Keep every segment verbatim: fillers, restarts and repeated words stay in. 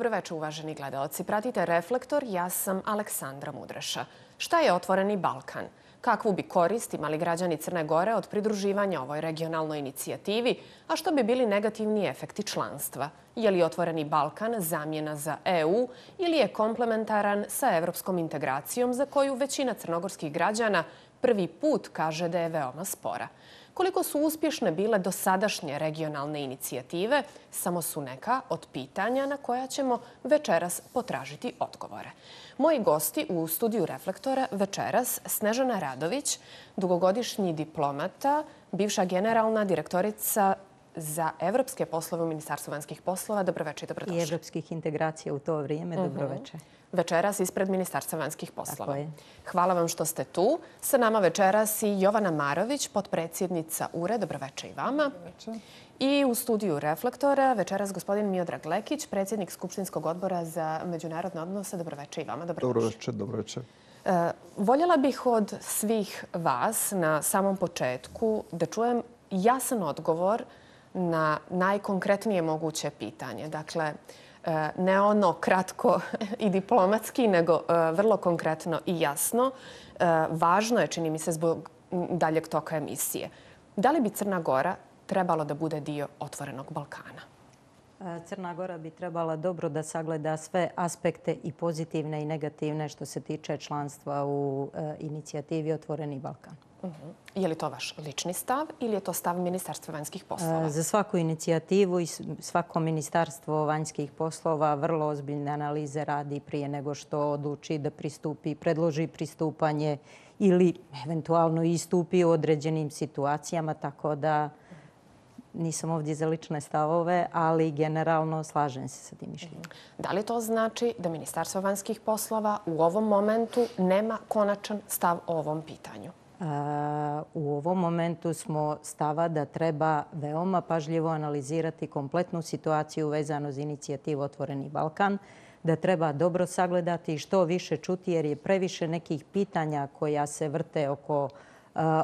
Dobroveče, uvaženi gledaoci. Pratite Reflektor, ja sam Aleksandra Mudreša. Šta je Otvoreni Balkan? Kakvu bi korist imali građani Crne Gore od pridruživanja ovoj regionalnoj inicijativi, a što bi bili negativni efekti članstva? Je li Otvoreni Balkan zamjena za E U ili je komplementaran sa evropskom integracijom za koju većina crnogorskih građana prvi put kaže da je veoma spora? Koliko su uspješne bile dosadašnje regionalne inicijative, samo su neka od pitanja na koja ćemo večeras potražiti odgovore. Moji gosti u studiju Reflektora večeras Snežana Radović, dugogodišnji diplomata, bivša generalna direktorica za evropske poslove u Ministarstvu vanjskih poslova. Dobroveče i dobrodošli. I evropskih integracija u to vrijeme. Dobroveče. Večeras ispred Ministarstva vanjskih poslova. Hvala vam što ste tu. Sa nama večeras i Jovana Marović, potpredsjednica U R E. Dobroveče i vama. I u studiju Reflektora večeras gospodin Miodrag Lekić, predsjednik Skupštinskog odbora za međunarodne odnose. Dobroveče i vama. Dobroveče, dobroveče. Voljela bih od svih vas na samom početku da čujem jasan odgovor na najkonkretnije moguće pitanje. Dakle, ne ono kratko i diplomatski, nego vrlo konkretno i jasno. Važno je, čini mi se, zbog daljeg toka emisije. Da li bi Crna Gora trebalo da bude dio Otvorenog Balkana? Crna Gora bi trebala dobro da sagleda sve aspekte i pozitivne i negativne što se tiče članstva u inicijativi Otvoreni Balkan. Je li to vaš lični stav ili je to stav Ministarstva vanjskih poslova? Za svaku inicijativu i svako Ministarstvo vanjskih poslova vrlo ozbiljne analize radi prije nego što odluči da pristupi, predloži pristupanje ili eventualno istupi u određenim situacijama, tako da nisam ovdje za lične stavove, ali generalno slažem se sa tim mišljenjem. Da li to znači da Ministarstvo vanjskih poslova u ovom momentu nema konačan stav o ovom pitanju? U ovom momentu smo stava da treba veoma pažljivo analizirati kompletnu situaciju vezano za inicijativu Otvoreni Balkan, da treba dobro sagledati i što više čuti jer je previše nekih pitanja koja se vrte oko,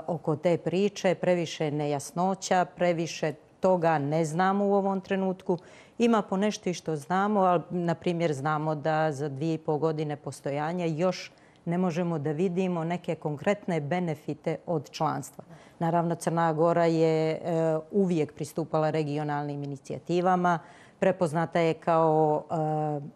oko te priče, previše nejasnoća, previše toga ne znamo u ovom trenutku. Ima po nešto i što znamo, ali na primjer znamo da za dvije i pol godine postojanja još ne možemo da vidimo neke konkretne benefite od članstva. Naravno, Crna Gora je uvijek pristupala regionalnim inicijativama, prepoznata je kao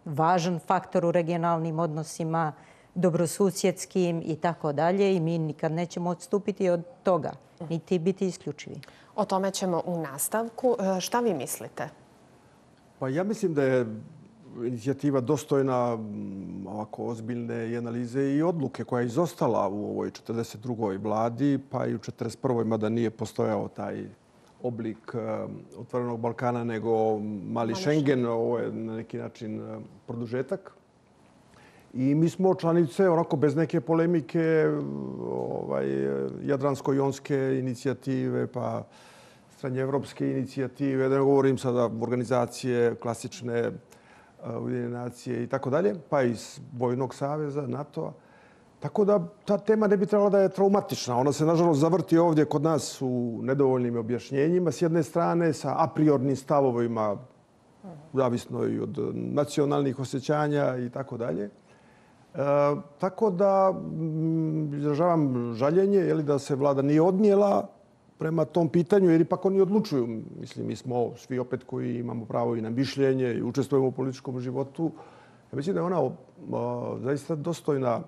važan faktor u regionalnim odnosima, dobrosusjedskim i tako dalje i mi nikad nećemo odstupiti od toga, niti biti isključivi. O tome ćemo u nastavku. Šta vi mislite? Pa ja mislim da je inicijativa dostojna ovako ozbiljne i analize i odluke koja je izostala u ovoj četrdeset drugoj vladi, pa i u četrdeset prvoj mada nije postojao taj oblik Otvorenog Balkana, nego mali Schengen, ovo je na neki način produžetak. I mi smo članice, onako bez neke polemike, ovaj, Jadransko-jonske inicijative, pa srednjeevropske inicijative, da ne govorim sada organizacije klasične Ujedinjene nacije i tako dalje, pa iz Vojnog saveza, NATO-a. Tako da ta tema ne bi trebala da je traumatična. Ona se, nažalost, zavrti ovdje kod nas u nedovoljnim objašnjenjima. S jedne strane, sa a priornim stavovima, zavisno i od nacionalnih osjećanja i tako dalje. Tako da izražavam žaljenje je li da se vlada nije odnijela prema tom pitanju, jer ipak oni odlučuju. Mislim, mi smo svi opet koji imamo pravo i na mišljenje i učestvujemo u političkom životu. Ja mislim da je ona zaista dostojna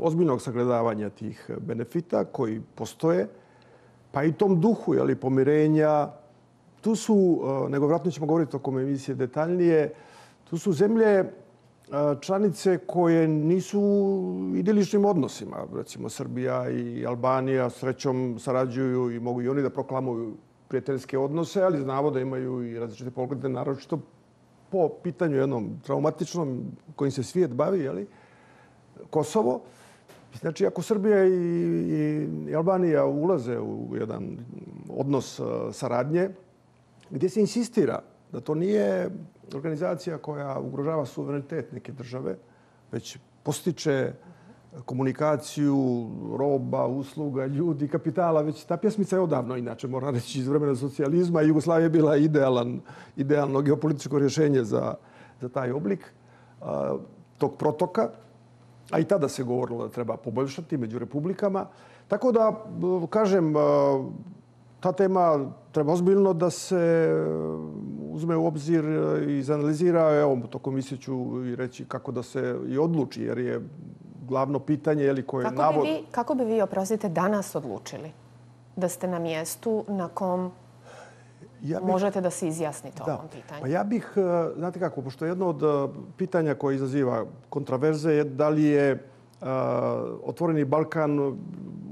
ozbiljnog sagledavanja tih benefita koji postoje, pa i tom duhu je li, pomirenja. Tu su, nego vratno ćemo govoriti oko emisije detaljnije, tu su zemlje članice koje nisu u idiličnim odnosima. Recimo Srbija i Albanija srećom sarađuju i mogu i oni da proklamuju prijateljske odnose, ali znamo da imaju i različite poglede, naročito po pitanju jednom traumatičnom kojim se svijet bavi, je li, Kosovo. Znači, ako Srbija i, i Albanija ulaze u jedan odnos saradnje, gdje se insistira da to nije organizacija koja ugrožava suverenitet neke države, već postiče komunikaciju roba, usluga, ljudi, kapitala. Već ta pjesmica je odavno, inače, moram reći, iz vremena socijalizma. Jugoslavija je bila idealan, idealno geopolitičko rješenje za, za taj oblik tog protoka, a i tada se govorilo da treba poboljšati među republikama. Tako da, kažem, ta tema treba ozbiljno da se uzme u obzir i izanalizira. Evo, tokom misije ću i reći kako da se i odluči, jer je glavno pitanje je li koje kako navod... Bi vi, kako bi vi, oprostite, danas odlučili da ste na mjestu na kom ja bih, možete da se izjasnite o ovom pitanju? Pa ja bih, znate kako, pošto jedno od pitanja koje izaziva kontraverze je da li je uh, Otvoreni Balkan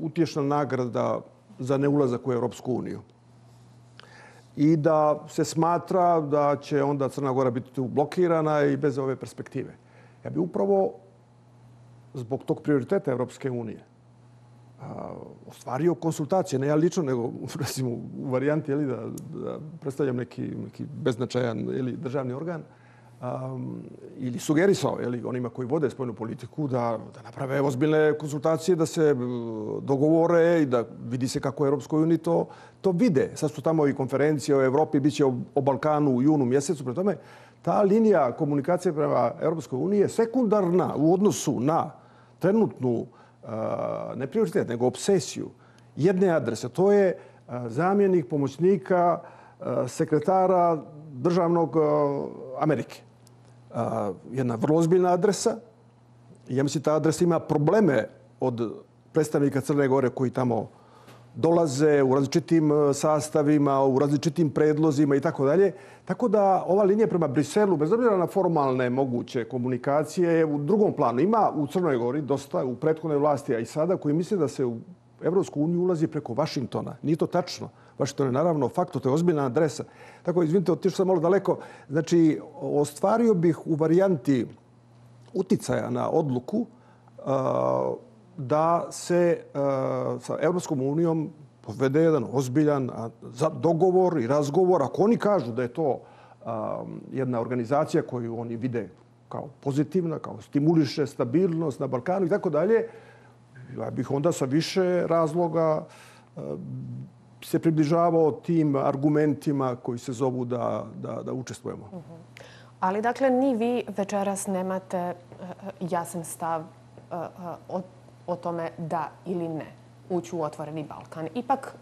utješna nagrada za neulazak u Europsku uniju. I da se smatra da će onda Crna Gora biti tu blokirana i bez ove perspektive. Ja bih upravo zbog tog prioriteta Europske unije ostvario konsultacije, ne ja lično, nego recimo u varijanti da, da predstavljam neki, neki beznačajan ili državni organ, um, ili sugerisao ili onima koji vode spoljnu politiku da, da naprave ozbiljne konsultacije, da se dogovore i da vidi se kako Europskoj uniji to, to vide. Sad su tamo i konferencije o Evropi, bit će o, o Balkanu u junu mjesecu. Prema tome, ta linija komunikacije prema Europskoj uniji je sekundarna u odnosu na trenutnu ne prioritet, nego obsesiju jedne adrese. To je zamjenik pomoćnika sekretara državnog Amerike. Jedna vrlo ozbiljna adresa. Ja mislim ta adresa ima probleme od predstavnika Crne Gore koji tamo dolaze u različitim sastavima, u različitim predlozima i tako dalje. Tako da ova linija prema Briselu, bez obzira na formalne moguće komunikacije, je u drugom planu. Ima u Crnoj Gori dosta u prethodnoj vlasti, a i sada, koji misle da se u Evropsku uniju ulazi preko Vašingtona. Nije to tačno. Vašington je naravno fakto, to je ozbiljna adresa. Tako, izvinite, otišao sam malo daleko. Znači, ostvario bih u varijanti uticaja na odluku uh, da se uh, sa Evropskom unijom povede jedan ozbiljan za dogovor i razgovor. Ako oni kažu da je to um, jedna organizacija koju oni vide kao pozitivna, kao stimuliše stabilnost na Balkanu i tako dalje, ja bih onda sa više razloga uh, se približavao tim argumentima koji se zovu da, da, da učestvujemo. Uh-huh. Ali dakle, ni vi večeras nemate uh, jasan stav uh, uh, o, o tome da ili ne ući u Otvoreni Balkan. Ipak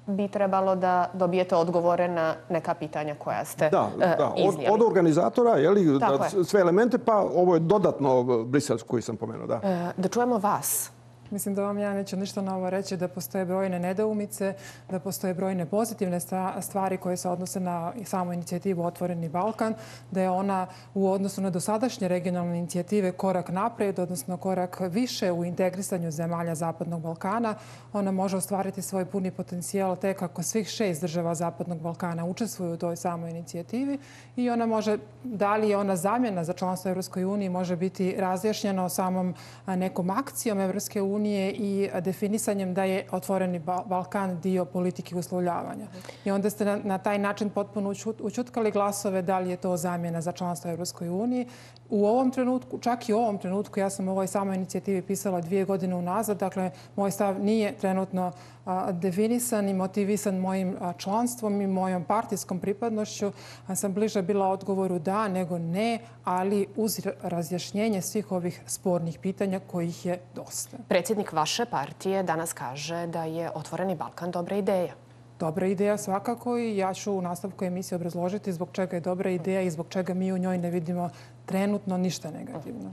bi trebalo da dobijete odgovore na neka pitanja koja ste da, uh, da. Od, iznijeli. Od organizatora, je li, da, sve elemente, pa ovo je dodatno briselsko koji sam pomenuo. Da. Uh, da čujemo vas. Mislim da vam ja neću ništa novo reći, da postoje brojne nedoumice, da postoje brojne pozitivne stvari koje se odnose na samu inicijativu Otvoreni Balkan, da je ona u odnosu na dosadašnje regionalne inicijative korak naprijed, odnosno korak više u integrisanju zemalja Zapadnog Balkana. Ona može ostvariti svoj puni potencijal tek ako svih šest država Zapadnog Balkana učestvuju u toj samoj inicijativi i ona može, da li je ona zamjena za članstvo Evropskoj uniji, može biti razjašnjeno samom nekom akcijom Evropske unije i definisanjem da je Otvoreni Balkan dio politike uslovljavanja. I onda ste na, na taj način potpuno učutkali glasove da li je to zamjena za članstvo Evropskoj uniji. U ovom trenutku, čak i u ovom trenutku, ja sam u ovoj samoj inicijativi pisala dvije godine unazad, dakle, moj stav nije trenutno a, definisan i motivisan mojim a, članstvom i mojom partijskom pripadnošću. A sam bliže bila odgovoru da, nego ne, ali uz razjašnjenje svih ovih spornih pitanja kojih je dosta. Predsjednik vaše partije danas kaže da je Otvoreni Balkan dobra ideja. Dobra ideja svakako i ja ću u nastavku emisije obrazložiti zbog čega je dobra ideja i zbog čega mi u njoj ne vidimo trenutno ništa negativno.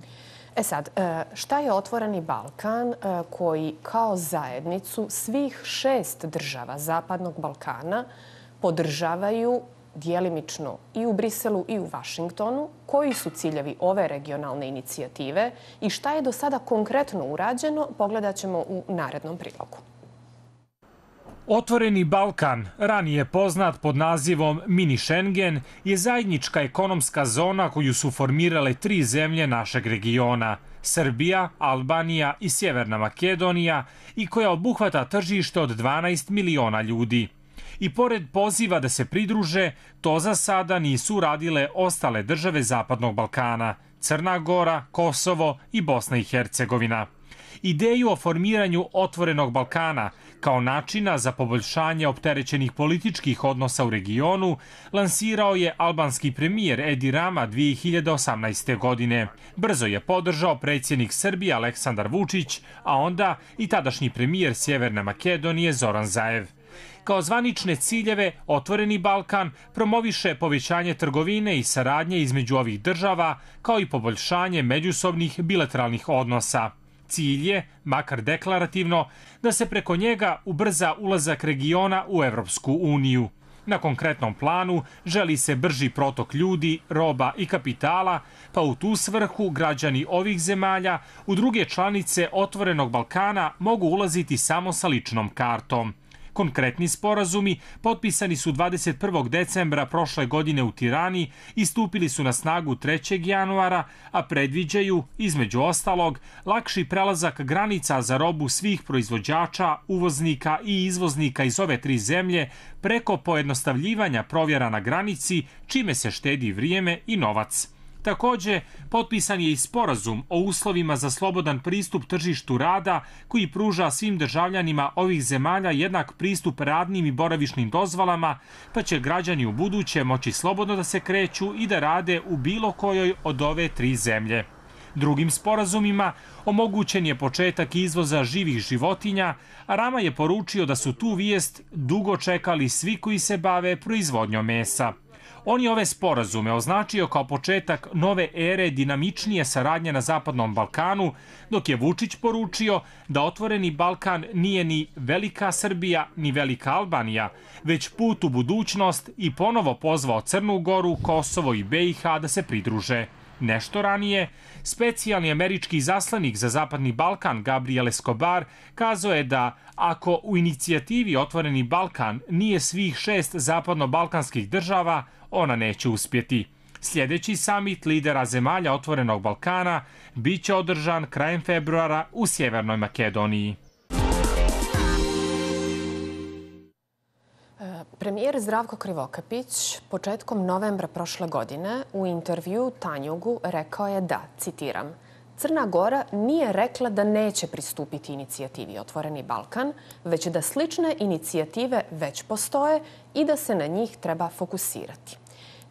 E sad, šta je Otvoreni Balkan koji kao zajednicu svih šest država Zapadnog Balkana podržavaju dijelimično i u Briselu i u Vašingtonu? Koji su ciljevi ove regionalne inicijative i šta je do sada konkretno urađeno, pogledat ćemo u narednom prilogu. Otvoreni Balkan, ranije poznat pod nazivom Mini Schengen, je zajednička ekonomska zona koju su formirale tri zemlje našeg regiona, Srbija, Albanija i Sjeverna Makedonija, i koja obuhvata tržište od dvanaest miliona ljudi. I pored poziva da se pridruže, to za sada nisu uradile ostale države Zapadnog Balkana, Crna Gora, Kosovo i Bosna i Hercegovina. Ideju o formiranju Otvorenog Balkana Kao načina za poboljšanje opterećenih političkih odnosa u regionu lansirao je albanski premijer Edi Rama dvije hiljade osamnaeste. godine. Brzo je podržao predsjednik Srbije Aleksandar Vučić, a onda i tadašnji premijer Sjeverne Makedonije Zoran Zaev. Kao zvanične ciljeve, Otvoreni Balkan promoviše povećanje trgovine i saradnje između ovih država, kao i poboljšanje međusobnih bilateralnih odnosa. Cilj je, makar deklarativno, da se preko njega ubrza ulazak regiona u Evropsku uniju. Na konkretnom planu želi se brži protok ljudi, roba i kapitala, pa u tu svrhu građani ovih zemalja u druge članice Otvorenog Balkana mogu ulaziti samo sa ličnom kartom. Konkretni sporazumi potpisani su dvadeset prvog decembra prošle godine u Tirani i stupili su na snagu trećeg januara, a predviđaju, između ostalog, lakši prelazak granica za robu svih proizvođača, uvoznika i izvoznika iz ove tri zemlje preko pojednostavljivanja provjera na granici, čime se štedi vrijeme i novac. Također, potpisan je i sporazum o uslovima za slobodan pristup tržištu rada koji pruža svim državljanima ovih zemalja jednak pristup radnim i boravišnim dozvolama, pa će građani u buduće moći slobodno da se kreću i da rade u bilo kojoj od ove tri zemlje. Drugim sporazumima omogućen je početak izvoza živih životinja, a Rama je poručio da su tu vijest dugo čekali svi koji se bave proizvodnjom mesa. On je ove sporazume označio kao početak nove ere dinamičnije saradnje na Zapadnom Balkanu, dok je Vučić poručio da Otvoreni Balkan nije ni Velika Srbija ni Velika Albanija, već put u budućnost i ponovo pozvao Crnu Goru, Kosovo i B i H da se pridruže. Nešto ranije, specijalni američki izaslanik za Zapadni Balkan Gabriel Escobar kazao je da ako u inicijativi Otvoreni Balkan nije svih šest zapadno-balkanskih država, ona neće uspjeti. Sljedeći samit lidera zemalja Otvorenog Balkana biće održan krajem februara u Sjevernoj Makedoniji. Premijer Zdravko Krivokapić početkom novembra prošle godine u intervju Tanjugu rekao je da, citiram, Crna Gora nije rekla da neće pristupiti inicijativi Otvoreni Balkan, već da slične inicijative već postoje i da se na njih treba fokusirati.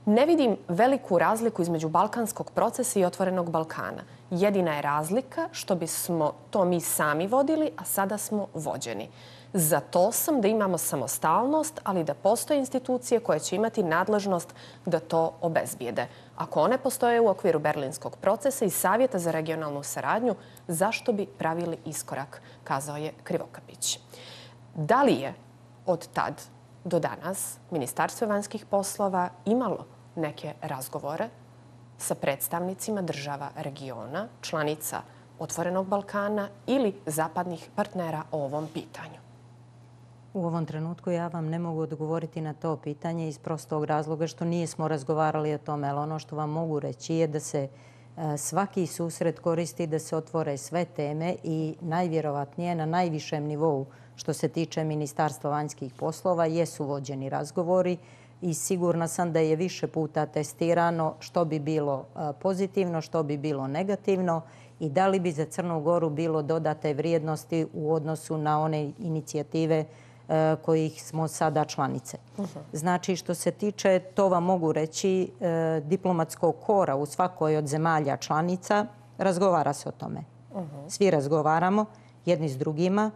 Ne vidim veliku razliku između balkanskog procesa i Otvorenog Balkana. Jedina je razlika što bismo to mi sami vodili, a sada smo vođeni. Za to sam da imamo samostalnost, ali da postoje institucije koje će imati nadležnost da to obezbijede. Ako one postoje u okviru berlinskog procesa i Savjeta za regionalnu saradnju, zašto bi pravili iskorak, kazao je Krivokapić. Da li je od tad do danas Ministarstvo vanjskih poslova imalo neke razgovore sa predstavnicima država regiona, članica Otvorenog Balkana ili zapadnih partnera o ovom pitanju? U ovom trenutku ja vam ne mogu odgovoriti na to pitanje iz prostog razloga što nismo razgovarali o tome, ali ono što vam mogu reći je da se svaki susret koristi da se otvore sve teme i najvjerovatnije na najvišem nivou što se tiče Ministarstva vanjskih poslova jesu vođeni razgovori i sigurna sam da je više puta testirano što bi bilo pozitivno, što bi bilo negativno i da li bi za Crnu Goru bilo dodate vrijednosti u odnosu na one inicijative kojih smo sada članice. Znači, što se tiče, to vam mogu reći, diplomatskog kora u svakoj od zemalja članica, razgovara se o tome. Svi razgovaramo jedni s drugima.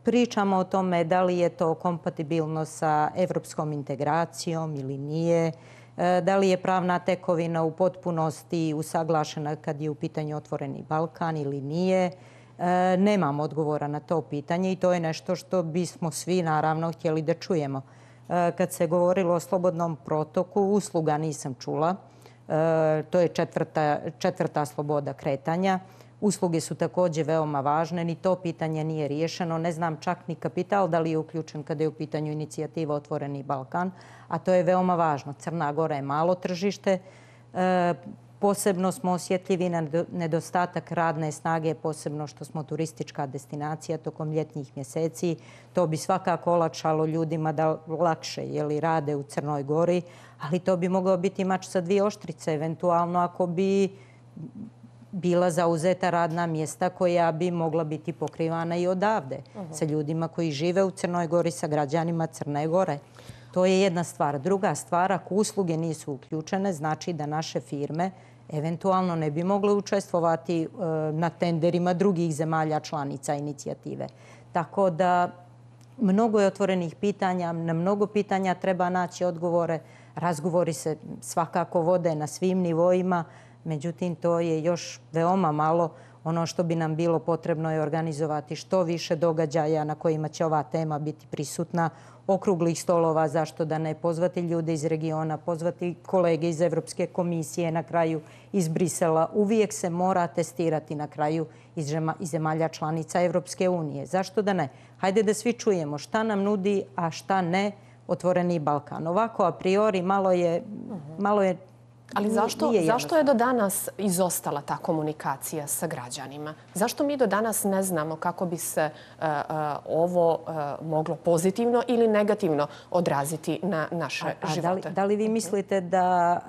Pričamo o tome da li je to kompatibilno sa evropskom integracijom ili nije, da li je pravna tekovina u potpunosti usaglašena kad je u pitanju Otvoreni Balkan ili nije. Nemamo odgovora na to pitanje i to je nešto što bismo svi naravno htjeli da čujemo. Kad se govorilo o slobodnom protoku, usluga nisam čula. To je četvrta, četvrta sloboda kretanja. Usluge su također veoma važne, ni to pitanje nije riješeno. Ne znam čak ni kapital da li je uključen kada je u pitanju inicijativa Otvoreni Balkan, a to je veoma važno. Crna Gora je malo tržište. Posebno smo osjetljivi na nedostatak radne snage, posebno što smo turistička destinacija tokom ljetnjih mjeseci. To bi svakako olakšalo ljudima da lakše jeli, rade u Crnoj Gori, ali to bi mogao biti mač sa dvije oštrice, eventualno ako bi bila zauzeta radna mjesta koja bi mogla biti pokrivana i odavde sa ljudima koji žive u Crnoj Gori, sa građanima Crne Gore. To je jedna stvar. Druga stvar, ako usluge nisu uključene, znači da naše firme eventualno ne bi mogle učestvovati na tenderima drugih zemalja članica inicijative. Tako da mnogo je otvorenih pitanja, na mnogo pitanja treba naći odgovore. Razgovori se svakako vode na svim nivoima, međutim to je još veoma malo. Ono što bi nam bilo potrebno je organizovati što više događaja na kojima će ova tema biti prisutna, okruglih stolova, zašto da ne, pozvati ljude iz regiona, pozvati kolege iz Evropske komisije, na kraju iz Brisela. Uvijek se mora testirati na kraju iz zemalja članica Evropske unije. Zašto da ne? Hajde da svi čujemo šta nam nudi, a šta ne Otvoreni Balkan. Ovako, a priori, malo je... Malo je Ali zašto, zašto je do danas izostala ta komunikacija sa građanima? Zašto mi do danas ne znamo kako bi se uh, uh, ovo uh, moglo pozitivno ili negativno odraziti na naše a, a živote? Da li, da li vi mislite da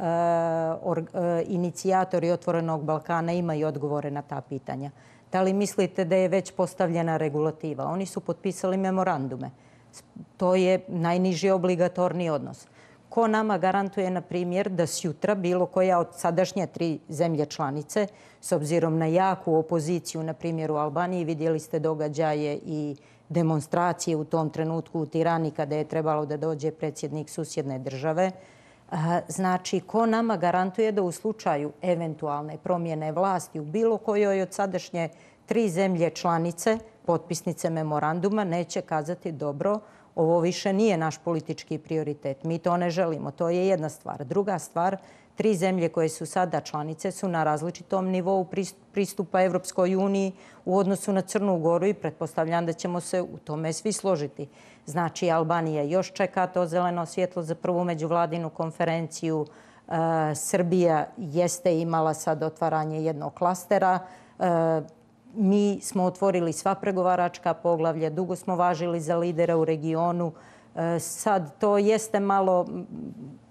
uh, or, uh, inicijatori Otvorenog Balkana imaju odgovore na ta pitanja? Da li mislite da je već postavljena regulativa? Oni su potpisali memorandume. To je najniži obligatorni odnos. Ko nama garantuje, na primjer, da sjutra bilo koja od sadašnje tri zemlje članice, s obzirom na jaku opoziciju, na primjer u Albaniji, vidjeli ste događaje i demonstracije u tom trenutku u Tirani kada je trebalo da dođe predsjednik susjedne države. Znači, ko nama garantuje da u slučaju eventualne promjene vlasti u bilo kojoj od sadašnje tri zemlje članice, potpisnice memoranduma, neće kazati dobro, ovo više nije naš politički prioritet. Mi to ne želimo. To je jedna stvar. Druga stvar, tri zemlje koje su sada članice su na različitom nivou pristupa Evropskoj uniji u odnosu na Crnu Goru i pretpostavljam da ćemo se u tome svi složiti. Znači, Albanija još čeka to zeleno svjetlo za prvu međuvladinu konferenciju. Srbija jeste imala sad otvaranje jednog klastera. Mi smo otvorili sva pregovaračka poglavlja, dugo smo važili za lidera u regionu. Sad to jeste malo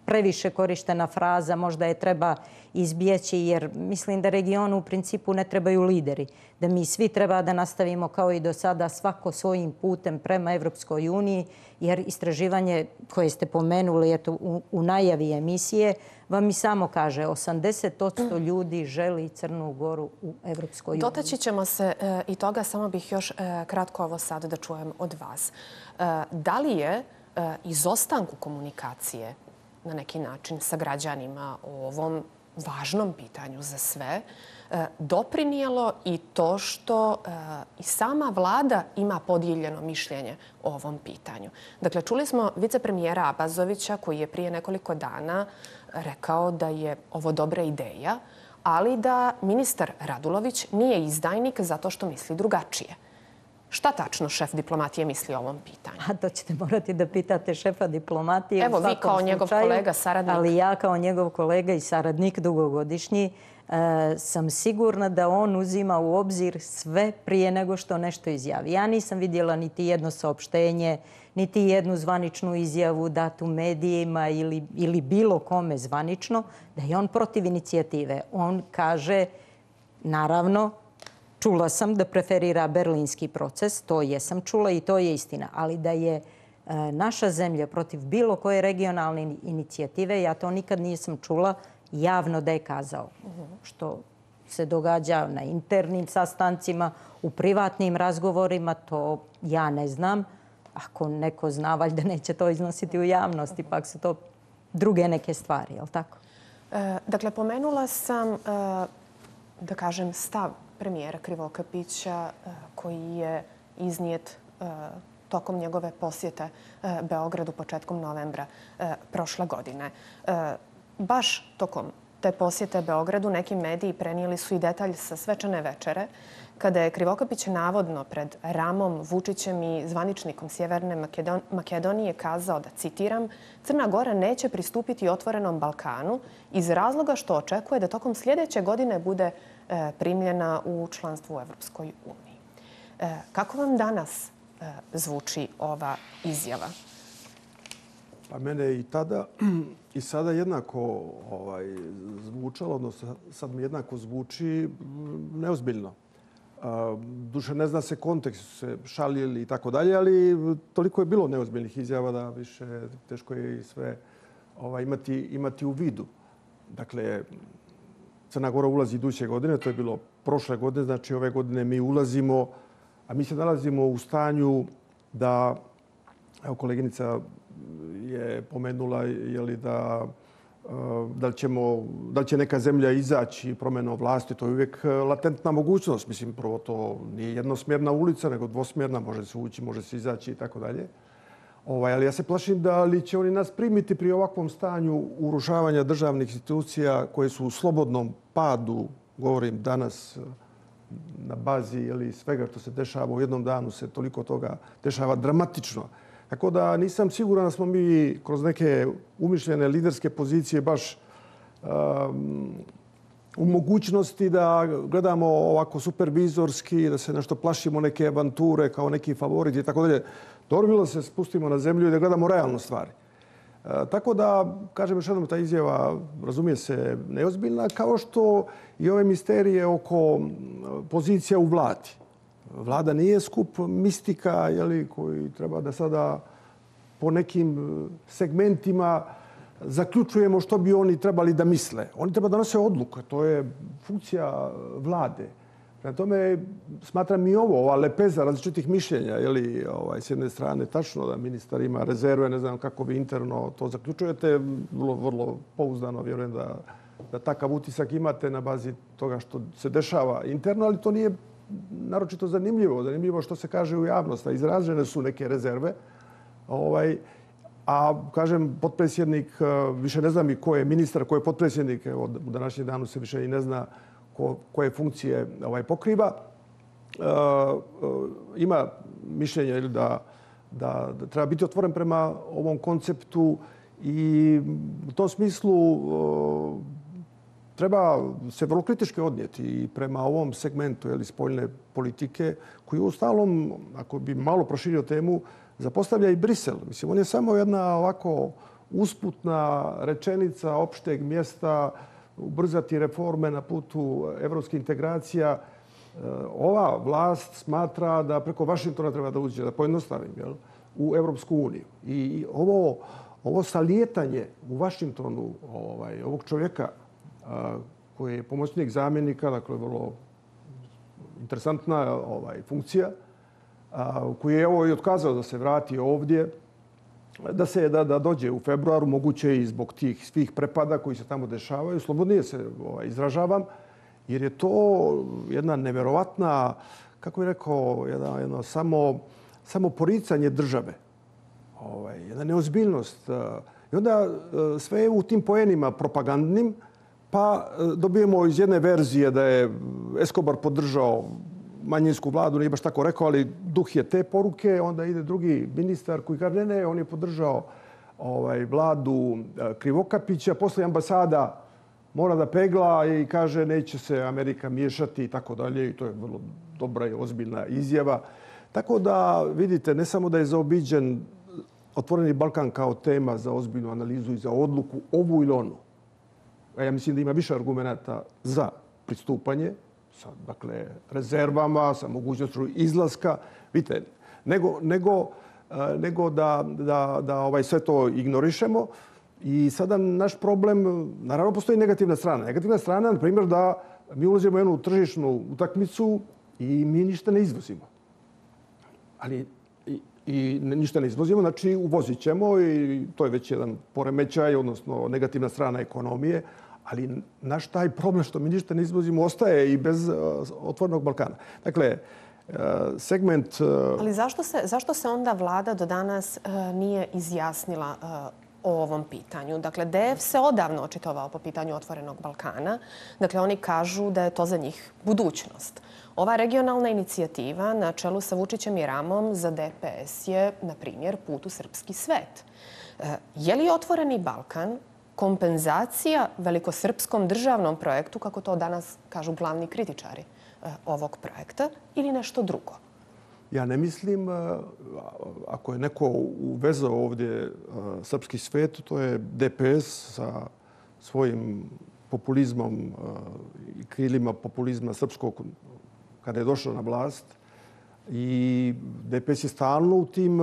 previše korištena fraza, možda je treba izbjeći jer mislim da regionu u principu ne trebaju lideri. Da mi svi treba da nastavimo kao i do sada svako svojim putem prema Evropskoj uniji jer istraživanje koje ste pomenuli eto, u, u najavi emisije vam i samo kaže osamdeset posto ljudi želi Crnu Goru u Evropskoj uniji. Dotaći ćemo se e, i toga, samo bih još e, kratko ovo sad da čujem od vas. E, da li je e, izostanku komunikacije na neki način sa građanima o ovom važnom pitanju za sve doprinijelo i to što i sama vlada ima podijeljeno mišljenje o ovom pitanju? Dakle, čuli smo vicepremijera Abazovića koji je prije nekoliko dana rekao da je ovo dobra ideja, ali da ministar Radulović nije izdajnik zato što misli drugačije. Šta tačno šef diplomatije misli o ovom pitanju? A to ćete morati da pitate šefa diplomatije. Evo, vi kao njegov kolega, saradnik. Ali ja kao njegov kolega i saradnik dugogodišnji sam sigurna da on uzima u obzir sve prije nego što nešto izjavi. Ja nisam vidjela niti jedno saopštenje, niti jednu zvaničnu izjavu datu medijima ili, ili bilo kome zvanično da je on protiv inicijative. On kaže, naravno, čula sam da preferira berlinski proces, to jesam čula i to je istina. Ali da je e, naša zemlja protiv bilo koje regionalne inicijative, ja to nikad nisam čula javno da je kazao. Što se događa na internim sastancima, u privatnim razgovorima, to ja ne znam. Ako neko zna, valjda neće to iznositi u javnosti, pak su to druge neke stvari, je li tako? E, dakle, pomenula sam, e, da kažem, stav premijera Krivokapića koji je iznijet tokom njegove posjete Beogradu početkom novembra prošle godine. Baš tokom te posjete Beogradu neki mediji prenijeli su i detalj sa svečane večere kada je Krivokapić navodno pred Ramom Vučićem i zvaničnikom Sjeverne Makedonije kazao da, citiram, Crna Gora neće pristupiti Otvorenom Balkanu iz razloga što očekuje da tokom sljedeće godine bude primljena u članstvu u Evropskoj uniji. Kako vam danas zvuči ova izjava? Pa mene i tada i sada jednako ovaj, zvučalo, odnosno sad mi jednako zvuči neozbiljno. Duše ne zna se kontekst, se šalili i tako dalje, ali toliko je bilo neozbiljnih izjava da više teško je i sve ovaj, imati, imati u vidu. Dakle, Crna Gora ulazi iduće godine, to je bilo prošle godine, znači ove godine mi ulazimo, a mi se nalazimo u stanju da, evo koleginica je pomenula jeli, da, da, li ćemo, da li će neka zemlja izaći promjenom vlasti. To je uvijek latentna mogućnost. Mislim, prvo to nije jednosmjerna ulica, nego dvosmjerna. Može se ući, može se izaći i tako dalje. Ovaj, ali ja se plašim da li će oni nas primiti pri ovakvom stanju urušavanja državnih institucija koje su u slobodnom padu, govorim danas, na bazi jeli, svega što se dešava u jednom danu se toliko toga dešava dramatično. Tako da nisam siguran da smo mi kroz neke umišljene liderske pozicije baš um, u mogućnosti da gledamo ovako supervizorski, da se nešto plašimo neke avanture kao neki favoriti i tako dalje. Dobro bilo da se spustimo na zemlju i da gledamo realno stvari. E, tako da, kažem još jednom, ta izjava razumije se neozbiljna, kao što i ove misterije oko pozicija u vladi. Vlada nije skup mistika jeli, koji treba da sada po nekim segmentima zaključujemo što bi oni trebali da misle. Oni treba da nose odluke. To je funkcija vlade. Prema tome, smatram i ovo, ova lepeza različitih mišljenja. Jeli, ovaj, s jedne strane, tačno da ministar ima rezerve, ne znam kako vi interno to zaključujete. Vrlo, vrlo pouzdano vjerujem da, da takav utisak imate na bazi toga što se dešava interno, ali to nije naročito zanimljivo. Zanimljivo što se kaže u javnosti. Izražene su neke rezerve. Ovaj, a, kažem, potpredsjednik, više ne znam i ko je ministar, ko je potpredsjednik, evo, u današnjem danu se više i ne zna ko, koje funkcije ovaj, pokriva. E, e, ima mišljenje da, da, da treba biti otvoren prema ovom konceptu i u tom smislu e, treba se vrlo kritički odnijeti i prema ovom segmentu jeli, spoljne politike koji u stalom, ako bi malo proširio temu, zapostavlja i Brisel. Mislim, on je samo jedna ovako usputna rečenica opšteg mjesta, ubrzati reforme na putu evropskih integracija. Ova vlast smatra da preko Vašingtona treba da uđe, da pojednostavim, jel, u Evropsku uniju. I ovo, ovo salijetanje u Vašingtonu ovaj, ovog čovjeka koji je pomoćnik zamjenika, dakle vrlo interesantna ovaj, funkcija, koji je evo i otkazao da se vrati ovdje, da se da, da dođe u februaru, moguće i zbog tih svih prepada koji se tamo dešavaju. Slobodnije se ovaj, izražavam, jer je to jedna neverovatna, kako bih rekao, jedna, jedno samo, samo poricanje države. Ovaj, jedna neozbiljnost. I onda sve je u tim poenima propagandnim, pa dobijemo iz jedne verzije da je Escobar podržao manjinsku vladu, nije baš tako rekao, ali duh je te poruke. Onda ide drugi ministar koji kaže ne, ne, on je podržao ovaj, vladu Krivokapića. Posle ambasada mora da pegla i kaže neće se Amerika miješati i tako dalje. I to je vrlo dobra i ozbiljna izjava. Tako da, vidite, ne samo da je zaobiđen Otvoreni Balkan kao tema za ozbiljnu analizu i za odluku ovu ili onu. Ja mislim da ima više argumenta za pristupanje, sa dakle, rezervama, sa mogućnošću izlaska, vidite, nego, nego, nego da, da, da ovaj, sve to ignorišemo. I sada naš problem, naravno postoji negativna strana. Negativna strana, na primjer, da mi ulazimo u jednu tržišnu utakmicu i mi ništa ne izvozimo. Ali i, i ništa ne izvozimo, znači uvozit ćemo i to je već jedan poremećaj, odnosno negativna strana ekonomije. Ali naš taj problem što mi ništa ne izvozimo ostaje i bez uh, Otvorenog Balkana. Dakle, uh, segment... Uh... Ali zašto se, zašto se onda vlada do danas uh, nije izjasnila uh, o ovom pitanju? Dakle, D F se odavno očitovao po pitanju Otvorenog Balkana. Dakle, oni kažu da je to za njih budućnost. Ova regionalna inicijativa na čelu sa Vučićem i Ramom za D P S je, na primjer, put u srpski svet. Uh, je li Otvoreni Balkan kompenzacija velikosrpskom državnom projektu, kako to danas kažu glavni kritičari ovog projekta, ili nešto drugo? Ja ne mislim, ako je neko uvezao ovdje srpski svet, to je D P S sa svojim populizmom i krilima populizma srpskog kada je došao na vlast. I D P S je stalno u tim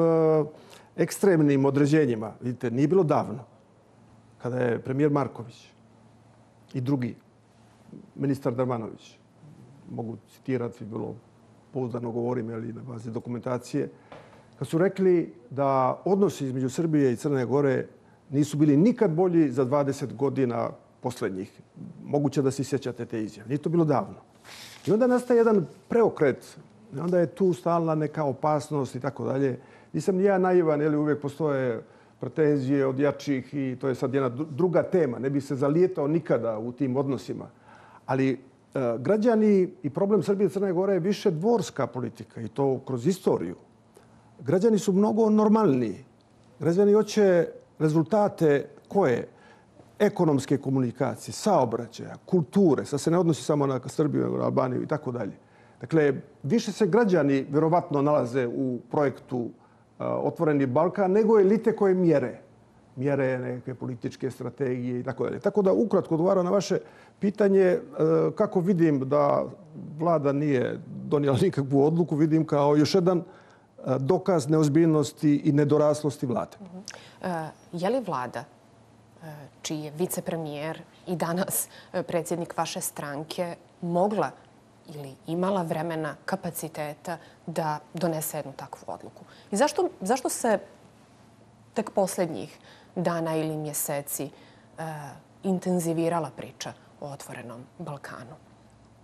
ekstremnim određenjima. Vidite, nije bilo davno kada je premijer Marković i drugi, ministar Darmanović, mogu citirati, bilo pouzdano govorim, ali na bazi dokumentacije, kad su rekli da odnosi između Srbije i Crne Gore nisu bili nikad bolji za dvadeset godina posljednjih. Moguće da se sjećate te izjave. Nije to bilo davno. I onda nastaje jedan preokret. I onda je tu stalna neka opasnost i tako dalje. Nisam ni ja naivan, jer uvijek postoje pretenzije od jačih i to je sad jedna druga tema. Ne bi se zalijetao nikada u tim odnosima. Ali e, građani i problem Srbije i Crne Gore je više dvorska politika i to kroz istoriju. Građani su mnogo normalniji. Građani hoće rezultate koje? Ekonomske komunikacije, saobraćaja, kulture. Sad se ne odnosi samo na Srbiju, nego na Albaniju i tako dalje. Dakle, više se građani vjerovatno nalaze u projektu uh, Otvoreni Balkan nego elite koje mjere. Mjere neke političke strategije i tako dalje. Tako da, ukratko odgovaram na vaše pitanje, uh, kako vidim da vlada nije donijela nikakvu odluku, vidim kao još jedan uh, dokaz neozbiljnosti i nedoraslosti vlade. Uh, je li vlada čiji je vicepremijer i danas predsjednik vaše stranke mogla ili imala vremena, kapaciteta da donese jednu takvu odluku? I zašto, zašto se tek posljednjih dana ili mjeseci uh, intenzivirala priča o Otvorenom Balkanu?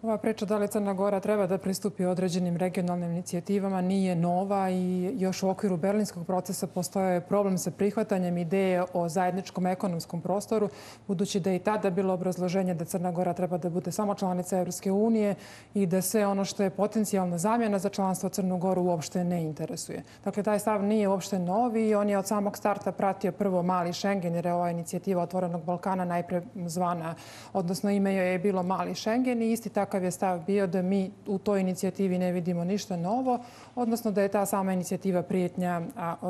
Ova priča da li Crna Gora treba da pristupi određenim regionalnim inicijativama nije nova i još u okviru berlinskog procesa postoje problem sa prihvatanjem ideje o zajedničkom ekonomskom prostoru, budući da je i tada bilo obrazloženje da Crna Gora treba da bude samo članica Evropske unije i da sve ono što je potencijalna zamjena za članstvo Crnu Goru uopšte ne interesuje. Dakle, taj stav nije uopšte novi i on je od samog starta pratio prvo mali Schengen, jer je ova inicijativa Otvorenog Balkana najpre zvana, odnosno ime joj je bilo mali Schengen i isti takav je stav bio da mi u toj inicijativi ne vidimo ništa novo, odnosno da je ta sama inicijativa prijetnja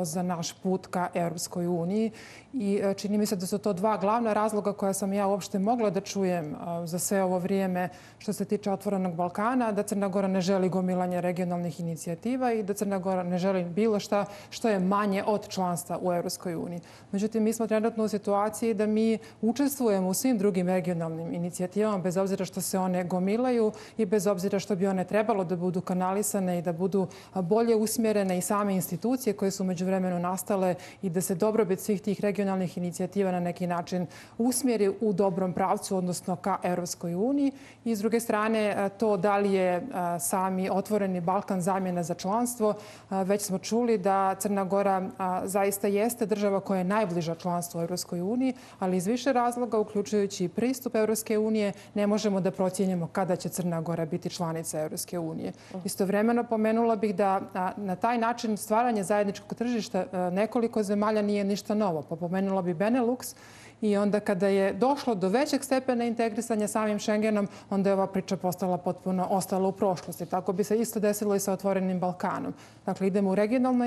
za naš put ka Europskoj uniji. I čini mi se da su to dva glavna razloga koja sam ja uopšte mogla da čujem za sve ovo vrijeme što se tiče Otvorenog Balkana, da Crna Gora ne želi gomilanje regionalnih inicijativa i da Crna Gora ne želi bilo šta što je manje od članstva u Europskoj uniji. Međutim, mi smo trenutno u situaciji da mi učestvujemo u svim drugim regionalnim inicijativama, bez obzira što se one gomilaju i bez obzira što bi one trebalo da budu kanalisane i da budu bolje usmjerene i same institucije koje su međuvremenu nastale i da se dobrobit svih tih regionalnih inicijativa na neki način usmjeri u dobrom pravcu, odnosno ka Europskoj uniji. I s druge strane, to da li je sami Otvoreni Balkan zamjena za članstvo, već smo čuli da Crna Gora zaista jeste država koja je najbliža članstvu u Europskoj uniji, ali iz više razloga, uključujući i pristup Europske unije, ne možemo da procjenjamo kada će Crna Gora biti članica Europske unije. Istovremeno pomenula bih da na taj način stvaranje zajedničkog tržišta nekoliko zemalja nije ništa novo. Pa pomenula bi Benelux i onda kada je došlo do većeg stepena integrisanja samim Schengenom, onda je ova priča postala potpuno ostala u prošlosti. Tako bi se isto desilo i sa Otvorenim Balkanom. Dakle, idemo u regionalno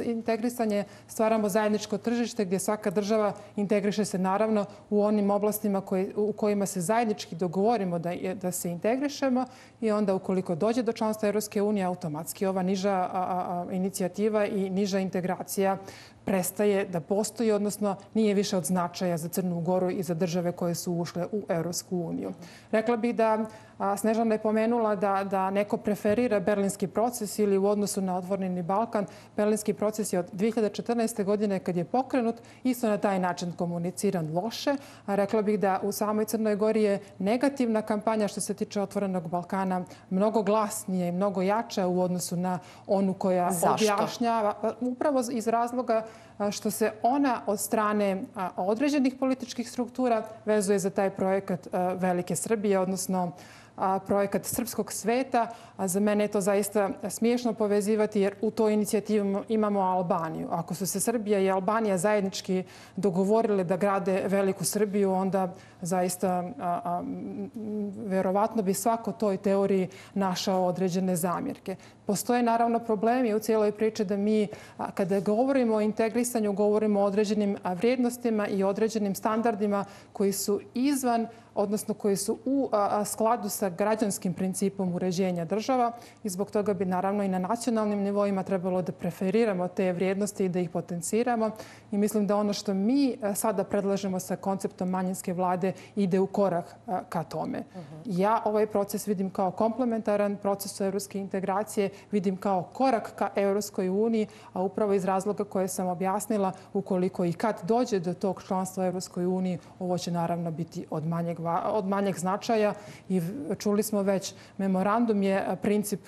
integrisanje, stvaramo zajedničko tržište gdje svaka država integriše se naravno u onim oblastima koji, u kojima se zajednički dogovorimo da, da se integrišemo i onda ukoliko dođe do članstva Europske unije, automatski ova niža a, a, inicijativa i niža integracija prestaje da postoji, odnosno nije više od značaja za Crnu Goru i za države koje su ušle u Europsku uniju. Rekla bih da Snežana je pomenula da, da neko preferira berlinski proces ili u odnosu na Otvoreni Balkan. Berlinski proces je od dvije hiljade četrnaeste. godine kad je pokrenut isto na taj način komuniciran loše. A rekla bih da u samoj Crnoj Gori je negativna kampanja što se tiče Otvorenog Balkana mnogo glasnije i mnogo jača u odnosu na onu koja Zašto? objašnjava. Upravo iz razloga što se ona od strane određenih političkih struktura vezuje za taj projekat Velike Srbije, odnosno projekat srpskog sveta. A za mene je to zaista smiješno povezivati jer u toj inicijativi imamo Albaniju. Ako su se Srbija i Albanija zajednički dogovorile da grade veliku Srbiju, onda zaista a, a, verovatno bi svako toj teoriji našao određene zamjerke. Postoje naravno problemi u cijeloj priči da mi, a, kada govorimo o integrisanju, govorimo o određenim vrijednostima i određenim standardima koji su izvan, odnosno koji su u a, skladu sa građanskim principom uređenja država i zbog toga bi naravno i na nacionalnim nivoima trebalo da preferiramo te vrijednosti i da ih potenciramo. I mislim da ono što mi sada predlažemo sa konceptom manjinske vlade ide u korak a, ka tome. Uh-huh. Ja ovaj proces vidim kao komplementaran procesu evropske integracije, vidim kao korak ka Evropskoj uniji, a upravo iz razloga koje sam objasnila, ukoliko i kad dođe do tog članstva u Evropskoj uniji, ovo će naravno biti od manjeg od manjeg značaja i čuli smo već, memorandum je princip,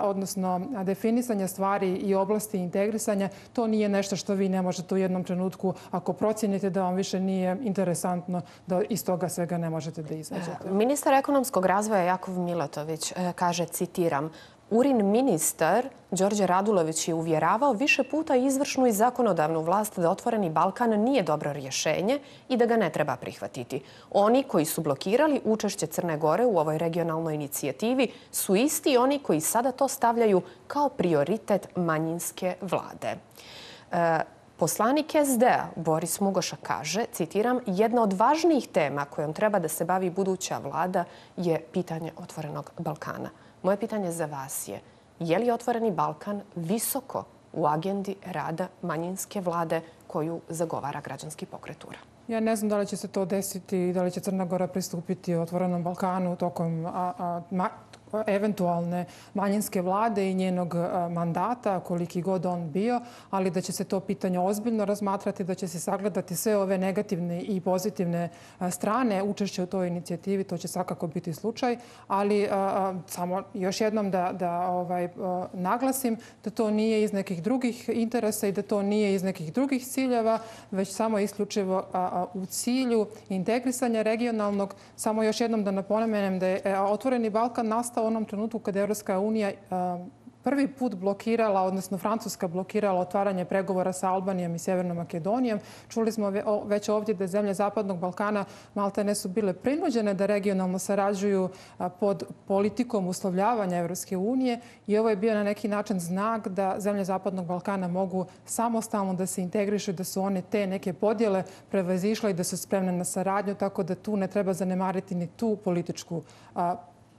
odnosno definisanja stvari i oblasti integrisanja. To nije nešto što vi ne možete u jednom trenutku, ako procjenite da vam više nije interesantno, da iz toga svega ne možete da izađete. Ministar ekonomskog razvoja Jakov Milatović kaže, citiram, Urin ministar Đorđe Radulović je uvjeravao više puta izvršnu i zakonodavnu vlast da Otvoreni Balkan nije dobro rješenje i da ga ne treba prihvatiti. Oni koji su blokirali učešće Crne Gore u ovoj regionalnoj inicijativi su isti oni koji sada to stavljaju kao prioritet manjinske vlade. E, Poslanik es de a Boris Mugoša kaže, citiram, jedna od važnijih tema kojom treba da se bavi buduća vlada je pitanje Otvorenog Balkana. Moje pitanje za vas je, je li Otvoreni Balkan visoko u agendi rada manjinske vlade koju zagovara građanski pokret U R A? Ja ne znam da li će se to desiti i da li će Crna Gora pristupiti Otvorenom Balkanu tokom a, a, ma, eventualne manjinske vlade i njenog mandata, koliki god on bio, ali da će se to pitanje ozbiljno razmatrati, da će se sagledati sve ove negativne i pozitivne strane učešća u toj inicijativi, to će svakako biti slučaj, ali a, samo još jednom da, da ovaj, a, naglasim da to nije iz nekih drugih interesa i da to nije iz nekih drugih ciljeva, već samo isključivo a, a, u cilju integrisanja regionalnog. Samo još jednom da napomenem da je Otvoreni Balkan nastao u onom trenutku kada je Evropska unija prvi put blokirala, odnosno Francuska blokirala otvaranje pregovora sa Albanijom i Sjevernom Makedonijom. Čuli smo već ovdje da zemlje Zapadnog Balkana maltene su bile prinuđene da regionalno sarađuju pod politikom uslovljavanja Evropske unije i ovo je bio na neki način znak da zemlje Zapadnog Balkana mogu samostalno da se integrišu, da su one te neke podjele prevazišle i da su spremne na saradnju, tako da tu ne treba zanemariti ni tu političku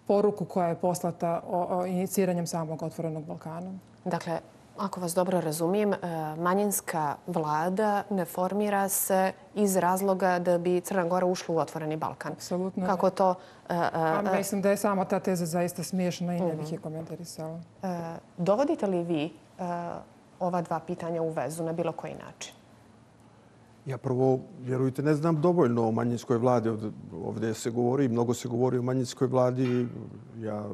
poruku koja je poslata o, o iniciranjem samog Otvorenog Balkana. Dakle, ako vas dobro razumijem, manjinska vlada ne formira se iz razloga da bi Crna Gora ušla u Otvoreni Balkan. Apsolutno. Kako to... A, mislim da je sama ta teza zaista smiješna i ne bih je komentarisala. Dovodite li vi ova dva pitanja u vezu na bilo koji način? Ja prvo, vjerujte, ne znam dovoljno o manjinskoj vladi. Ovdje se govori, mnogo se govori o manjinskoj vladi. Ja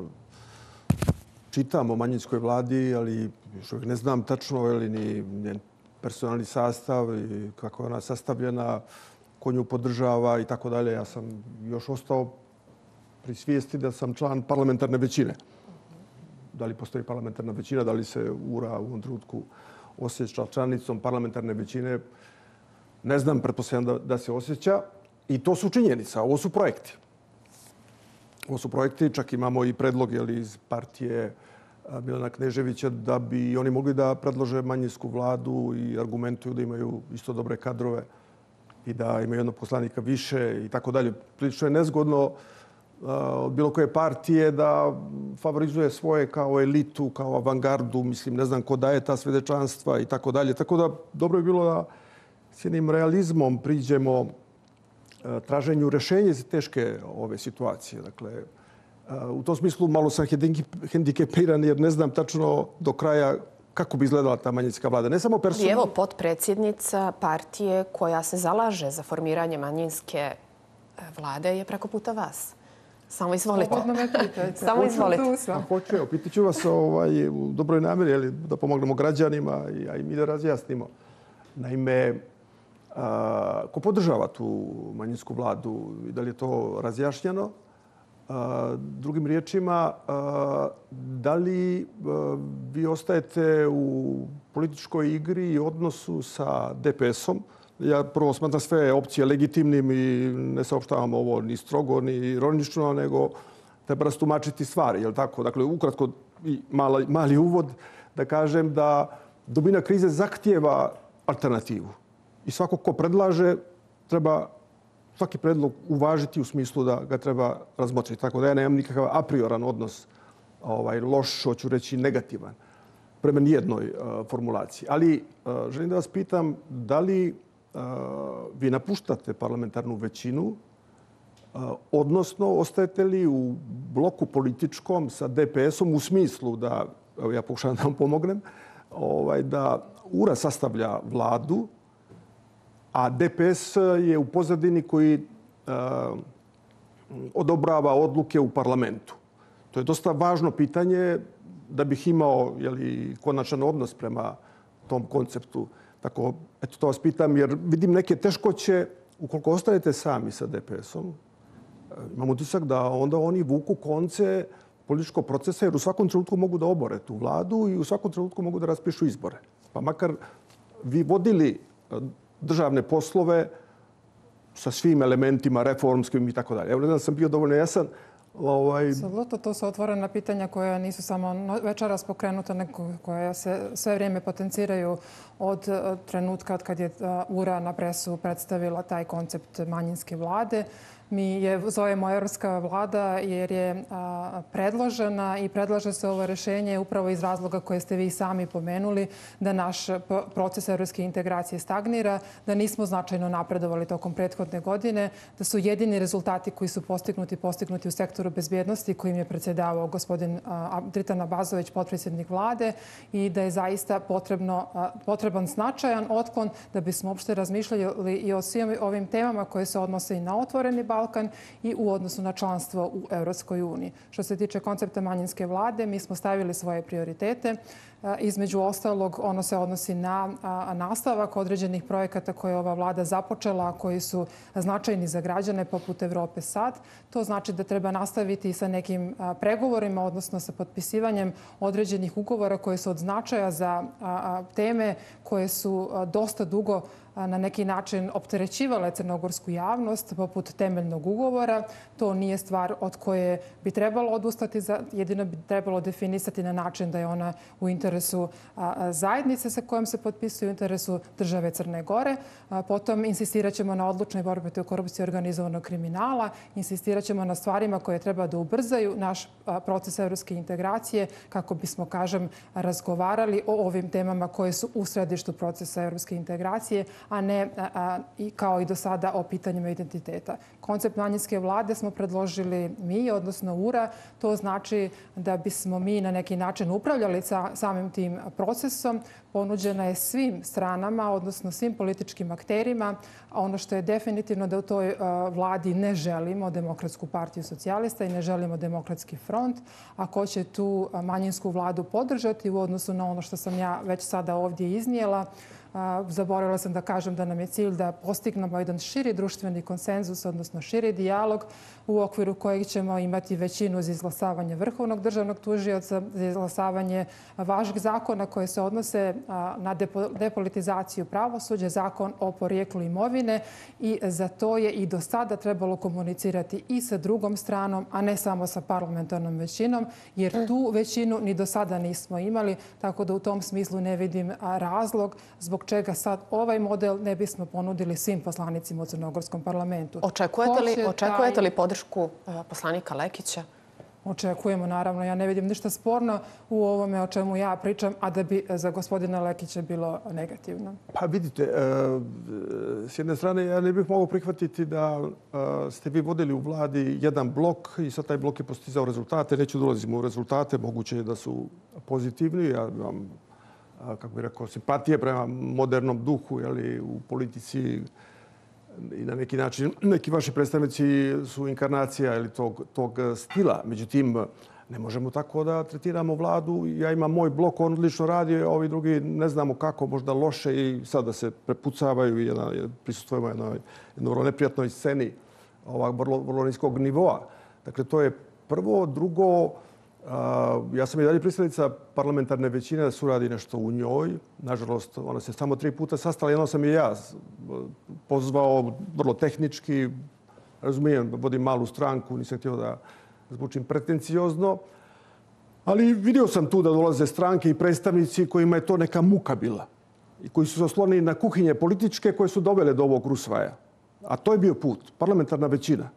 čitam o manjinskoj vladi, ali još uvijek ne znam tačno ili ni njen personalni sastav i kako je ona sastavljena, ko nju podržava i tako dalje. Ja sam još ostao pri svijesti da sam član parlamentarne većine. Da li postoji parlamentarna većina, da li se U R A u ovom trenutku osjeća članicom parlamentarne većine, ne znam, pretpostavljam da, da se osjeća. I to su činjenica. Ovo su projekti. Ovo su projekti. Čak imamo i predlog jeli, iz partije Milana Kneževića da bi oni mogli da predlože manjinsku vladu i argumentuju da imaju isto dobre kadrove i da imaju jednog poslanika više i tako dalje. Prilično je nezgodno od bilo koje partije da favorizuje svoje kao elitu, kao avangardu. Mislim, ne znam ko daje ta svjedečanstva i tako dalje. Tako da dobro je bilo da s jednim realizmom priđemo traženju rješenja za teške ove situacije. Dakle, u tom smislu malo sam hendikepiran jer ne znam tačno do kraja kako bi izgledala ta manjinska vlada. Ne samo personalno. Evo, potpredsjednica partije koja se zalaže za formiranje manjinske vlade je preko puta vas. Samo izvolite. Samo izvolite. Hoću, evo, pitat ću vas ovaj, u dobroj namjeri da pomognemo građanima, a i mi da razjasnimo. Naime, a, ko podržava tu manjinsku vladu i da li je to razjašnjeno? Drugim riječima, da li vi ostajete u političkoj igri i odnosu sa D P S-om? Ja prvo smatram sve opcije legitimnim i ne saopštavam ovo ni strogo, ni ironično, nego treba rastumačiti stvari. Je li tako? Dakle, ukratko i mali, mali uvod da kažem da dubina krize zahtijeva alternativu. I svako ko predlaže treba svaki predlog uvažiti u smislu da ga treba razmotriti. Tako da ja nemam nikakav a prioran odnos, ovaj, loš, hoću reći negativan, prema nijednoj uh, formulaciji. Ali uh, želim da vas pitam da li uh, vi napuštate parlamentarnu većinu, uh, odnosno ostajete li u bloku političkom sa D P S-om u smislu da, evo ja pokušavam da vam pomognem, ovaj, da U R A sastavlja vladu, a D P S je u pozadini koji uh, odobrava odluke u parlamentu. To je dosta važno pitanje da bih imao jeli, konačan odnos prema tom konceptu. Tako, eto to vas pitam, jer vidim neke teškoće ukoliko ostajete sami sa D P S-om. Imam utisak da onda oni vuku konce političkog procesa, jer u svakom trenutku mogu da obore tu vladu i u svakom trenutku mogu da raspišu izbore. Pa makar vi vodili državne poslove sa svim elementima reformskim i tako dalje. Evo, ne znam, sam bio dovoljno jasan. Ovaj... Apsolutno, to su otvorena pitanja koja nisu samo večeras pokrenuta, nego koja se sve vrijeme potenciraju od trenutka od kad je U R A na presu predstavila taj koncept manjinske vlade. Mi je zovemo Evropska vlada jer je a, predložena i predlaže se ovo rješenje upravo iz razloga koje ste vi sami pomenuli, da naš proces evropske integracije stagnira, da nismo značajno napredovali tokom prethodne godine, da su jedini rezultati koji su postignuti, postignuti u sektoru bezbjednosti kojim je predsjedavao gospodin a, Dritan Abazović, potpredsjednik vlade, i da je zaista potrebno, a, potreban značajan otklon da bismo uopšte razmišljali i o svim ovim temama koje se odnose i na otvoreni Balkan i u odnosu na članstvo u Europskoj uniji. Što se tiče koncepta manjinske vlade, mi smo stavili svoje prioritete. Između ostalog, ono se odnosi na nastavak određenih projekata koje je ova vlada započela, koji su značajni za građane poput Evrope sad. To znači da treba nastaviti sa nekim pregovorima, odnosno sa potpisivanjem određenih ugovora koje su od značaja za teme koje su dosta dugo na neki način opterećivale crnogorsku javnost, poput temeljnog ugovora. To nije stvar od koje bi trebalo odustati, jedino bi trebalo definisati na način da je ona u interesu zajednice sa kojom se potpisuje, u interesu države Crne Gore. Potom insistirat ćemo na odlučnoj borbi protiv korupcije i organizovanog kriminala, insistirat ćemo na stvarima koje treba da ubrzaju naš proces evropske integracije kako bismo, kažem, razgovarali o ovim temama koje su u središtu procesa evropske integracije, a ne a, i kao i do sada o pitanjima identiteta. Koncept manjinske vlade smo predložili mi, odnosno U R A. To znači da bismo mi na neki način upravljali sa, samim tim procesom. Ponuđena je svim stranama, odnosno svim političkim akterima. Ono što je definitivno da u toj uh, vladi ne želimo Demokratsku partiju socijalista i ne želimo Demokratski front. Ako će tu manjinsku vladu podržati u odnosu na ono što sam ja već sada ovdje iznijela, zaboravila sam da kažem da nam je cilj da postignemo jedan širi društveni konsenzus, odnosno širi dijalog u okviru kojeg ćemo imati većinu za izglasavanje Vrhovnog državnog tužioca, za izglasavanje važnih zakona koje se odnose na depolitizaciju pravosuđa, zakon o porijeklu imovine, i za to je i do sada trebalo komunicirati i sa drugom stranom, a ne samo sa parlamentarnom većinom, jer tu većinu ni do sada nismo imali, tako da u tom smislu ne vidim razlog zbog čega sad ovaj model ne bismo ponudili svim poslanicima u crnogorskom parlamentu. Očekujete li, očekujete taj... li podršku poslanika Lekića? Očekujemo, naravno. Ja ne vidim ništa sporno u ovome o čemu ja pričam, a da bi za gospodina Lekića bilo negativno. Pa vidite, s jedne strane ja ne bih mogao prihvatiti da ste vi vodili u vladi jedan blok i sad taj blok je postizao rezultate. Neću da ulazimo u rezultate, moguće je da su pozitivni. Ja imam, kako bih rekao, simpatije prema modernom duhu, jeli, u politici, i na neki način neki vaši predstavnici su inkarnacija ili tog, tog stila. Međutim, ne možemo tako da tretiramo vladu. Ja imam moj blok, on odlično radi, a ovi drugi ne znamo kako, možda loše, i sada se prepucavaju i jedna, prisustvujemo jednoj, jednoj vrlo neprijatnoj sceni ovak vrlo, vrlo niskog nivoa. Dakle, to je prvo. Drugo, ja sam i dalje pristalica parlamentarne većine da se uradi nešto u njoj. Nažalost, ona se samo tri puta sastala. Jedno sam i ja pozvao vrlo tehnički. Razumijem, vodim malu stranku, nisam htio da zvučim pretenciozno. Ali vidio sam tu da dolaze stranke i predstavnici kojima je to neka muka bila. I koji su se oslonili na kuhinje političke koje su dovele do ovog rusvaja. A to je bio put, parlamentarna većina.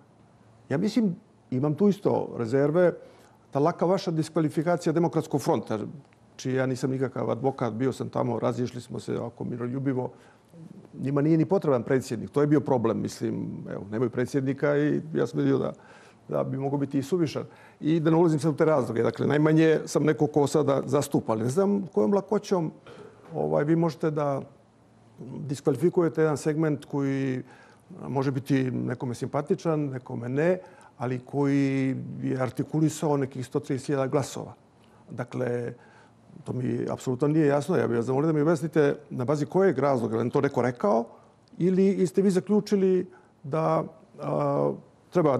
Ja mislim, imam tu isto rezerve, ta laka vaša diskvalifikacija Demokratskog fronta, čiji ja nisam nikakav advokat, bio sam tamo, razišli smo se oko miroljubivo. Njima nije ni potreban predsjednik. To je bio problem. Mislim, evo, nemaju predsjednika i ja sam vidio da, da bi mogao biti i suvišan. I da ne ulazim sad u te razloge. Dakle, najmanje sam neko ko sada zastupa. Ali ne znam kojom lakoćom ovaj, vi možete da diskvalifikujete jedan segment koji može biti nekome simpatičan, nekome ne, ali koji je artikulisao nekih sto trideset hiljada glasova. Dakle, to mi apsolutno nije jasno. Ja bih vas zamolio da mi objasnite na bazi kojeg razloga. Je li to neko rekao ili ste vi zaključili da a, treba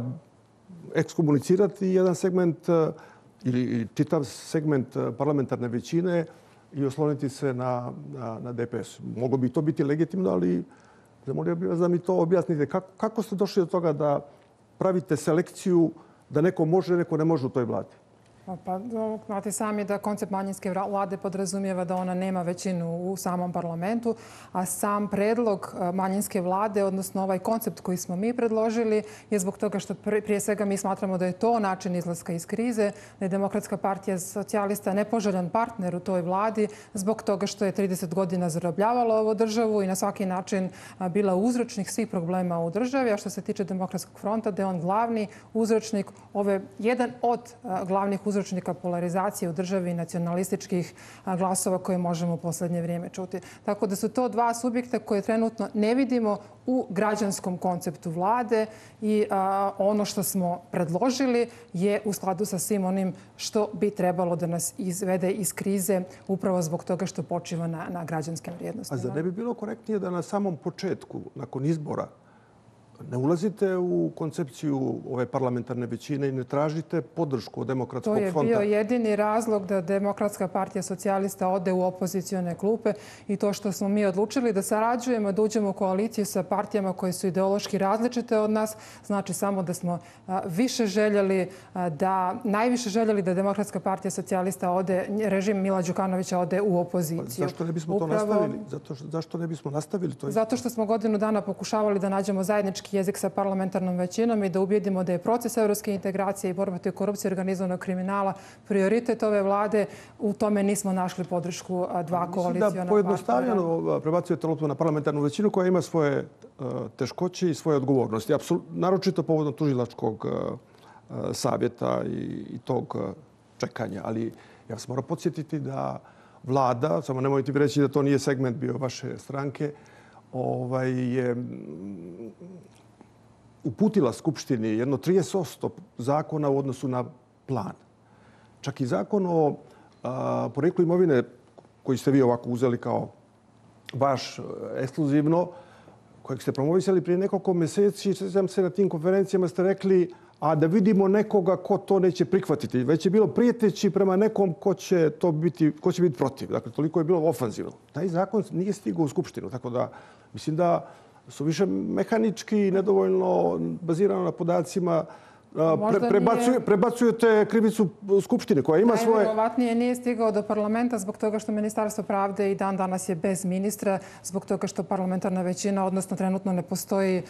ekskomunicirati jedan segment a, ili, ili čitav segment parlamentarne većine i osloniti se na, na, na D P S? Moglo bi to biti legitimno, ali zamolio bih vas da mi to objasnite. Kako, kako ste došli do toga da pravite selekciju da neko može, neko ne može u toj vladi? Pa, znate sami da koncept manjinske vlade podrazumijeva da ona nema većinu u samom parlamentu, a sam predlog manjinske vlade, odnosno ovaj koncept koji smo mi predložili, je zbog toga što prije svega mi smatramo da je to način izlaska iz krize, da je Demokratska partija socijalista nepoželjan partner u toj vladi zbog toga što je trideset godina zarobljavala ovu državu i na svaki način bila uzročnik svih problema u državi. A što se tiče Demokratskog fronta, da je on glavni uzročnik, ove, jedan od glavnih uzročnika uzročnika polarizacije u državi i nacionalističkih glasova koje možemo u posljednje vrijeme čuti. Tako da su to dva subjekta koje trenutno ne vidimo u građanskom konceptu vlade i a, ono što smo predložili je u skladu sa svim onim što bi trebalo da nas izvede iz krize upravo zbog toga što počiva na, na građanskim vrijednostima. A zar ne bi bilo korektnije da na samom početku, nakon izbora, ne ulazite u koncepciju ove parlamentarne većine i ne tražite podršku od Demokratskog fronta? To je bio jedini razlog da Demokratska partija socijalista ode u opozicione klupe i to što smo mi odlučili da sarađujemo, da uđemo u koaliciju sa partijama koje su ideološki različite od nas, znači samo da smo više željeli da, najviše željeli da Demokratska partija socijalista ode, režim Mila Đukanovića ode u opoziciju. Zašto ne bismo to Upravo, nastavili? Zato što, zašto ne bismo nastavili to? Zato što smo godinu dana pokušavali da nađemo zajednički jezik sa parlamentarnom većinom i da ubijedimo da je proces evropske integracije i borba protiv korupcije i organizovanog kriminala prioritet ove vlade. U tome nismo našli podršku dva koaliciona partnera. Mislim da pojednostavljeno prebacujete loptu na parlamentarnu većinu koja ima svoje teškoće i svoje odgovornosti. Naročito povodom tužilačkog savjeta i tog čekanja. Ali ja vas moram podsjetiti da vlada, samo nemojte mi reći da to nije segment bio vaše stranke, ovaj, je uputila Skupštini jedno trideset posto zakona u odnosu na plan. Čak i zakon o a, poreklu imovine koji ste vi ovako uzeli kao vaš ekskluzivno, kojeg ste promovisali prije nekoliko mjeseci, sjećam se na tim konferencijama ste rekli a da vidimo nekoga ko to neće prihvatiti. Već je bilo prijeteći prema nekom ko će, to biti, ko će biti protiv. Dakle, toliko je bilo ofanzivno. Taj zakon nije stigao u Skupštinu, tako da mislim da su više mehanički i nedovoljno bazirano na podacima. Pre, prebacuje, nije... Prebacujete krivicu Skupštine koja ima svoje... Najvjerovatnije nije stigao do parlamenta zbog toga što Ministarstvo pravde i dan danas je bez ministra, zbog toga što parlamentarna većina, odnosno trenutno ne postoji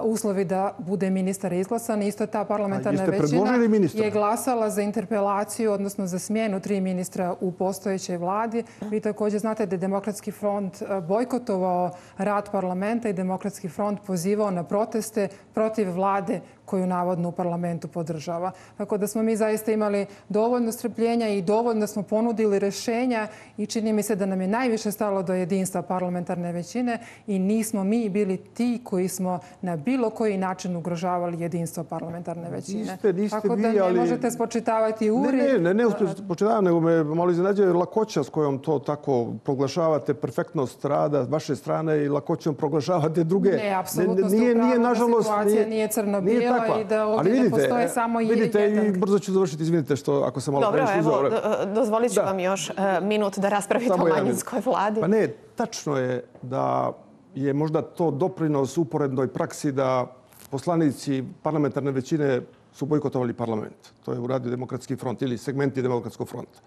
uslovi da bude ministar izglasan. Isto ta parlamentarna većina je glasala za interpelaciju, odnosno za smjenu tri ministra u postojećoj vladi. Vi također znate da je Demokratski front bojkotovao rad parlamenta i Demokratski front pozivao na proteste protiv vlade koju navodno u parlamentu podržava. Tako da smo mi zaista imali dovoljno strpljenja i dovoljno smo ponudili rješenja i čini mi se da nam je najviše stalo do jedinstva parlamentarne većine i nismo mi bili ti koji smo na bilo koji način ugrožavali jedinstvo parlamentarne većine. Niste, niste Tako da vi, ne ali... možete spočitavati uri. Ne, ne, ne, ne spočitavam, nego me malo iznenađuje lakoća s kojom to tako proglašavate, perfektnost rada vaše strane i lakoćom proglašavate druge. Ne, apsolutno ste upravo, situacija nije crno-bijela. i da ovdje ne postoje samo jedan. Vidite, i brzo ću završiti, izvinite što ako sam malo Dobro, previše evo, uzeo. dozvolit ću vam još minut da raspravite o manjinskoj vladi. Pa ne, tačno je da je možda to doprinos uporednoj praksi da poslanici parlamentarne većine su bojkotovali parlament. To je uradio Demokratski front ili segmenti Demokratskog fronta.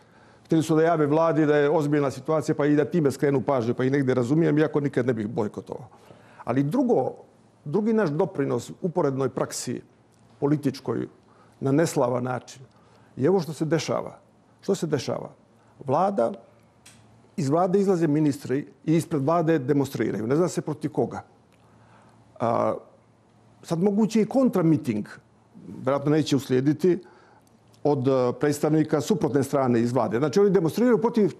Htjeli su da jave vladi da je ozbiljna situacija pa i da time skrenu pažnju, pa i negdje razumijem, iako nikad ne bih bojkotovao. Ali drugo, drugi naš doprinos uporednoj praksi političkoj na neslavan način je ovo što se dešava. Što se dešava? Vlada, iz vlade izlaze ministri i ispred vlade demonstriraju. Ne zna se protiv koga. A, sad moguće i kontramiting, vjerojatno neće uslijediti, od predstavnika suprotne strane iz vlade. Znači, oni demonstriraju protiv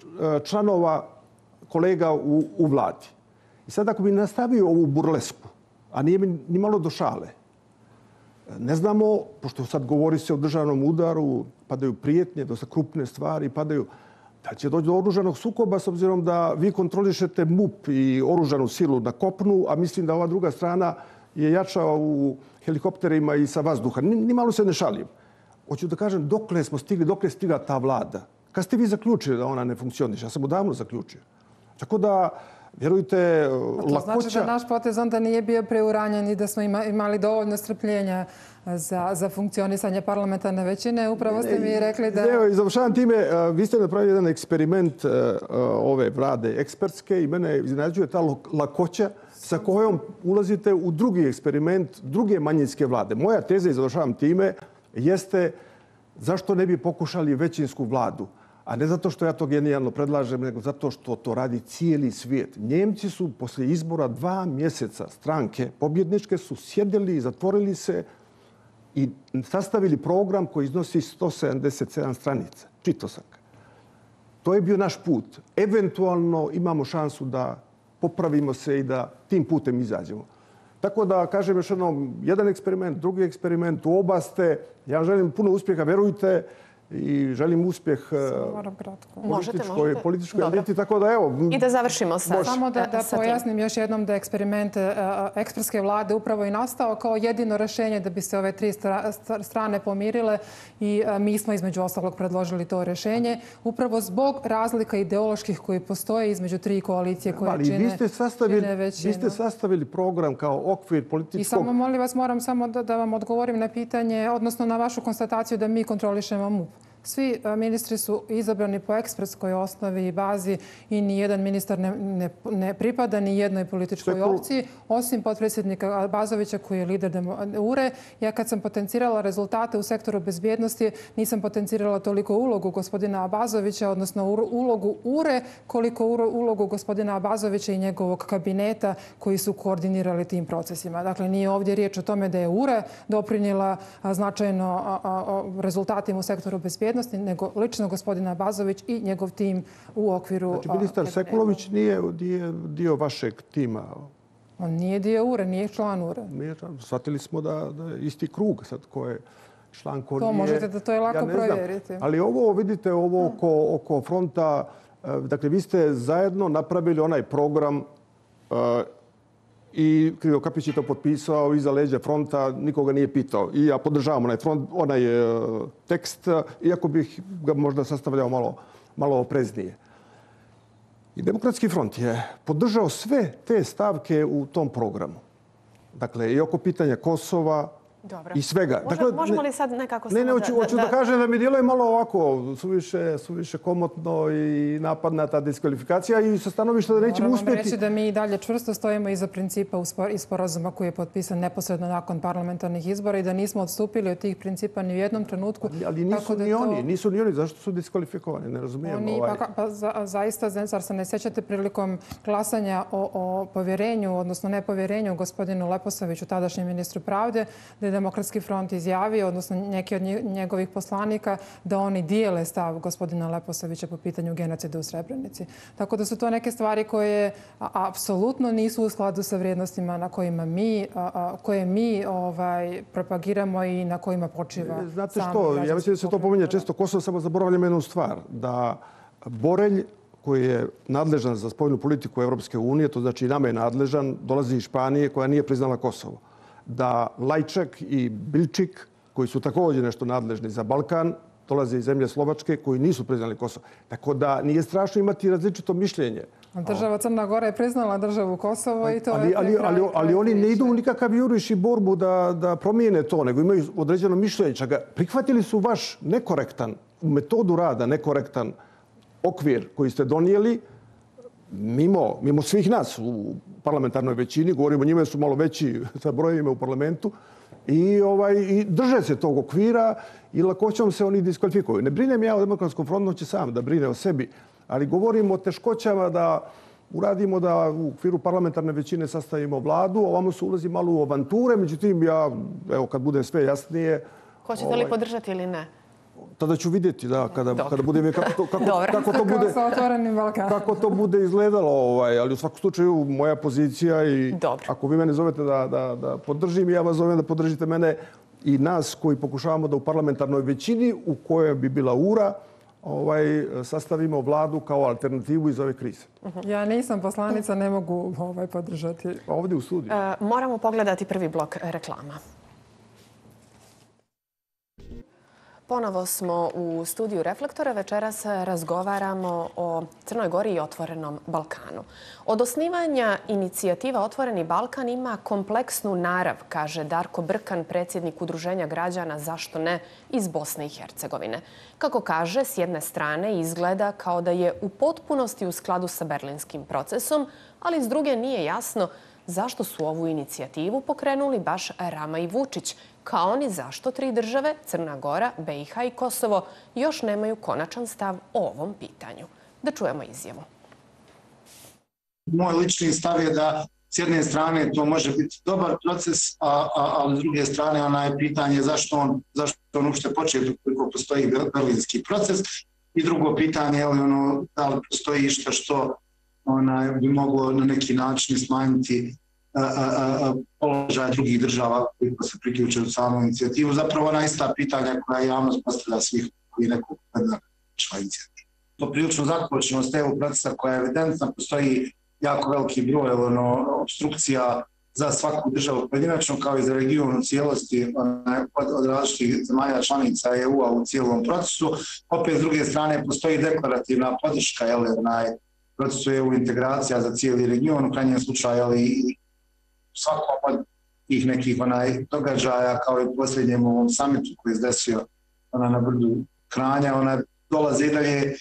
članova kolega u, u vladi. I sad ako bi nastavio ovu burlesku, a nije mi ni malo do šale, ne znamo, pošto sad govori se o državnom udaru, padaju prijetnje, dosta krupne stvari, padaju da će doći do oružanog sukoba s obzirom da vi kontrolišete M U P i oružanu silu na kopnu, a mislim da ova druga strana je jača u helikopterima i sa vazduha. Ni, ni malo se ne šalim. Hoću da kažem, dokle smo stigli, dokle je stigla ta vlada? Kad ste vi zaključili da ona ne funkcioniše? Ja sam odavno zaključio. Tako da, vjerujte, lakoća... To znači da naš potez onda nije bio preuranjen i da smo imali dovoljno strpljenja za, za funkcionisanje parlamentarne većine. Upravo ste mi rekli da... Evo, i završavam time, vi ste napravili jedan eksperiment ove vlade ekspertske i mene iznenađuje ta lakoća sa kojom ulazite u drugi eksperiment druge manjinske vlade. Moja teza, i završavam time, jeste zašto ne bi pokušali većinsku vladu. A ne zato što ja to genijalno predlažem, nego zato što to radi cijeli svijet. Njemci su poslije izbora dva mjeseca stranke pobjedničke su sjedili, zatvorili se i sastavili program koji iznosi sto sedamdeset sedam stranica. Čitao sam ga. To je bio naš put. Eventualno imamo šansu da popravimo se i da tim putem izađemo. Tako da, kažem još jednom, jedan eksperiment, drugi eksperiment, u oba ste. Ja želim puno uspjeha, verujte, i želim uspjeh političkoj, političkoj eliti. Tako da, evo... I da završimo sa... Samo da, da pojasnim još jednom da eksperiment ekspertske vlade upravo i nastao kao jedino rješenje da bi se ove tri strane pomirile i mi smo između ostalog predložili to rješenje upravo zbog razlika ideoloških koji postoje između tri koalicije koje Ali čine, vi ste sastavili, čine većinu. Vi ste sastavili program kao okvir političkog... I samo, molim vas, moram samo da, da vam odgovorim na pitanje, odnosno na vašu konstataciju da mi kontrolišemo M U P. Svi ministri su izabrani po ekspertskoj osnovi i bazi i nijedan ministar ne, ne, ne pripada ni jednoj političkoj Sekul... opciji, osim potpredsjednika Bazovića koji je lider U R E. Ja kad sam potencirala rezultate u sektoru bezbjednosti, nisam potencirala toliko ulogu gospodina Abazovića, odnosno ulogu U R E, koliko ulogu gospodina Abazovića i njegovog kabineta koji su koordinirali tim procesima. Dakle, nije ovdje riječ o tome da je U R E doprinijela značajno rezultatima u sektoru bezbjednosti, nego lično gospodina Bazović i njegov tim u okviru... Znači, ministar Sekulović nije dio, dio vašeg tima? On nije dio U R E, nije član U R E. Nije, shvatili smo da, da je isti krug sad ko je član, ko to nije... možete da to je lako ja provjeriti. Ali ovo, vidite, ovo oko, oko fronta, dakle, vi ste zajedno napravili onaj program uh, i Krivo Kapić je to potpisao iza leđa fronta, nikoga nije pitao. I ja podržavam onaj, front, onaj uh, tekst, iako bih ga možda sastavljao malo, malo opreznije. I Demokratski front je podržao sve te stavke u tom programu. Dakle, i oko pitanja Kosova, Dobro. I svega. Može, dakle, možemo li sad nekako... Ne, ne, hoću da, da, da, da kažem da mi djeluje malo ovako, suviše, suviše komotno i napadna ta diskvalifikacija i sa stanovišta da nećemo Moram uspjeti. Moram reći da mi i dalje čvrsto stojimo iza principa i sporazuma koji je potpisan neposredno nakon parlamentarnih izbora i da nismo odstupili od tih principa ni u jednom trenutku. Ali, ali nisu tako da ni to... oni, nisu ni oni. Zašto su diskvalifikovani? Ne razumijem. Oni, ovaj... pa, pa za, zaista, zar se ne sjećate prilikom glasanja o, o povjerenju, odnosno nepovjerenju gospodinu Leposaviću, tadašnjem ministru pravde, da je Demokratski front izjavio, odnosno neki od njegovih poslanika, da oni dijele stav gospodina Leposavića po pitanju genocida u Srebrenici. Tako da su to neke stvari koje apsolutno nisu u skladu sa vrijednostima na kojima mi, a, koje mi ovaj, propagiramo i na kojima počiva. Znate što, ja mislim da se to pominje često. Kosovo, samo zaboravljamo jednu stvar, da Borelj, koji je nadležan za spoljnu politiku Evropske unije, to znači i nama je nadležan, dolazi iz Španije koja nije priznala Kosovo. da Lajčak i Bilčik, koji su također nešto nadležni za Balkan, dolaze iz zemlje Slovačke koji nisu priznali Kosovo. Tako da nije strašno imati različito mišljenje. Država Crna Gora je priznala državu Kosovo i to ali, je... Ali, ali, ali oni ne idu u nikakav juriš i borbu da, da promijene to, nego imaju određeno mišljenje. Čak prihvatili su vaš nekorektan, u metodu rada nekorektan okvir koji ste donijeli mimo, mimo svih nas u parlamentarnoj većini. Govorimo, njima su malo veći sa brojevima u parlamentu. I, ovaj, i drže se tog okvira i lakoćom se oni diskvalifikuju. Ne brinem ja o Demokratskom frontu, on će sam da brine o sebi, ali govorimo o teškoćama da uradimo da u okviru parlamentarne većine sastavimo vladu, ovamo se ulazi malo u avanture, međutim, ja, evo, kad bude sve jasnije... Hoćete li ovaj, podržati ili ne? Tada ću vidjeti, da, kada, kada bude, kako to, kako, kako to bude, kako to bude izgledalo, ovaj, ali u svakom slučaju moja pozicija i Dobro. Ako vi mene zovete da, da, da podržim, ja vas zovem da podržite mene i nas koji pokušavamo da u parlamentarnoj većini u kojoj bi bila ura, ovaj, sastavimo vladu kao alternativu iz ove krize. Ja nisam poslanica, ne mogu ovaj, podržati. Ovdje u studiju. E, moramo pogledati prvi blok reklama. Ponovo smo u studiju Reflektora. Večeras razgovaramo o Crnoj Gori i Otvorenom Balkanu. Od osnivanja inicijativa Otvoreni Balkan ima kompleksnu narav, kaže Darko Brkan, predsjednik Udruženja građana Zašto ne iz Bosne i Hercegovine. Kako kaže, s jedne strane izgleda kao da je u potpunosti u skladu sa berlinskim procesom, ali s druge nije jasno zašto su ovu inicijativu pokrenuli baš Rama i Vučić, kao ni zašto tri države, Crna Gora, B i H i Kosovo, još nemaju konačan stav o ovom pitanju. Da čujemo izjavu. Moj lični stav je da s jedne strane to može biti dobar proces, a, a, a s druge strane ona je pitanje zašto on, zašto on uopšte početi koliko postoji berlinski proces. I drugo pitanje je li ono, da li postoji što što ona bi moglo na neki način smanjiti a, a, a, položaj drugih država koji se priključe u samu inicijativu. Zapravo ona ista pitanja koja javnost postavlja svih koji nekog čla inicijativu. To prilično zakočenost evo procesa koja je evidentna, postoji jako veliki broj ono, obstrukcija za svaku državu pojedinačno kao i za region u cijelosti od, od različitih zemalja članica E U-a u cijelom procesu. Opet s druge strane postoji deklarativna podrška jel, onaj, procesu E U integracija za cijeli region, u krajnjem slučaju ali i svakom od tih nekih onaj, događaja kao i posljednjem ovom samitu koji je desio ona, na brdu Kranja, ona dolaze i dalje e,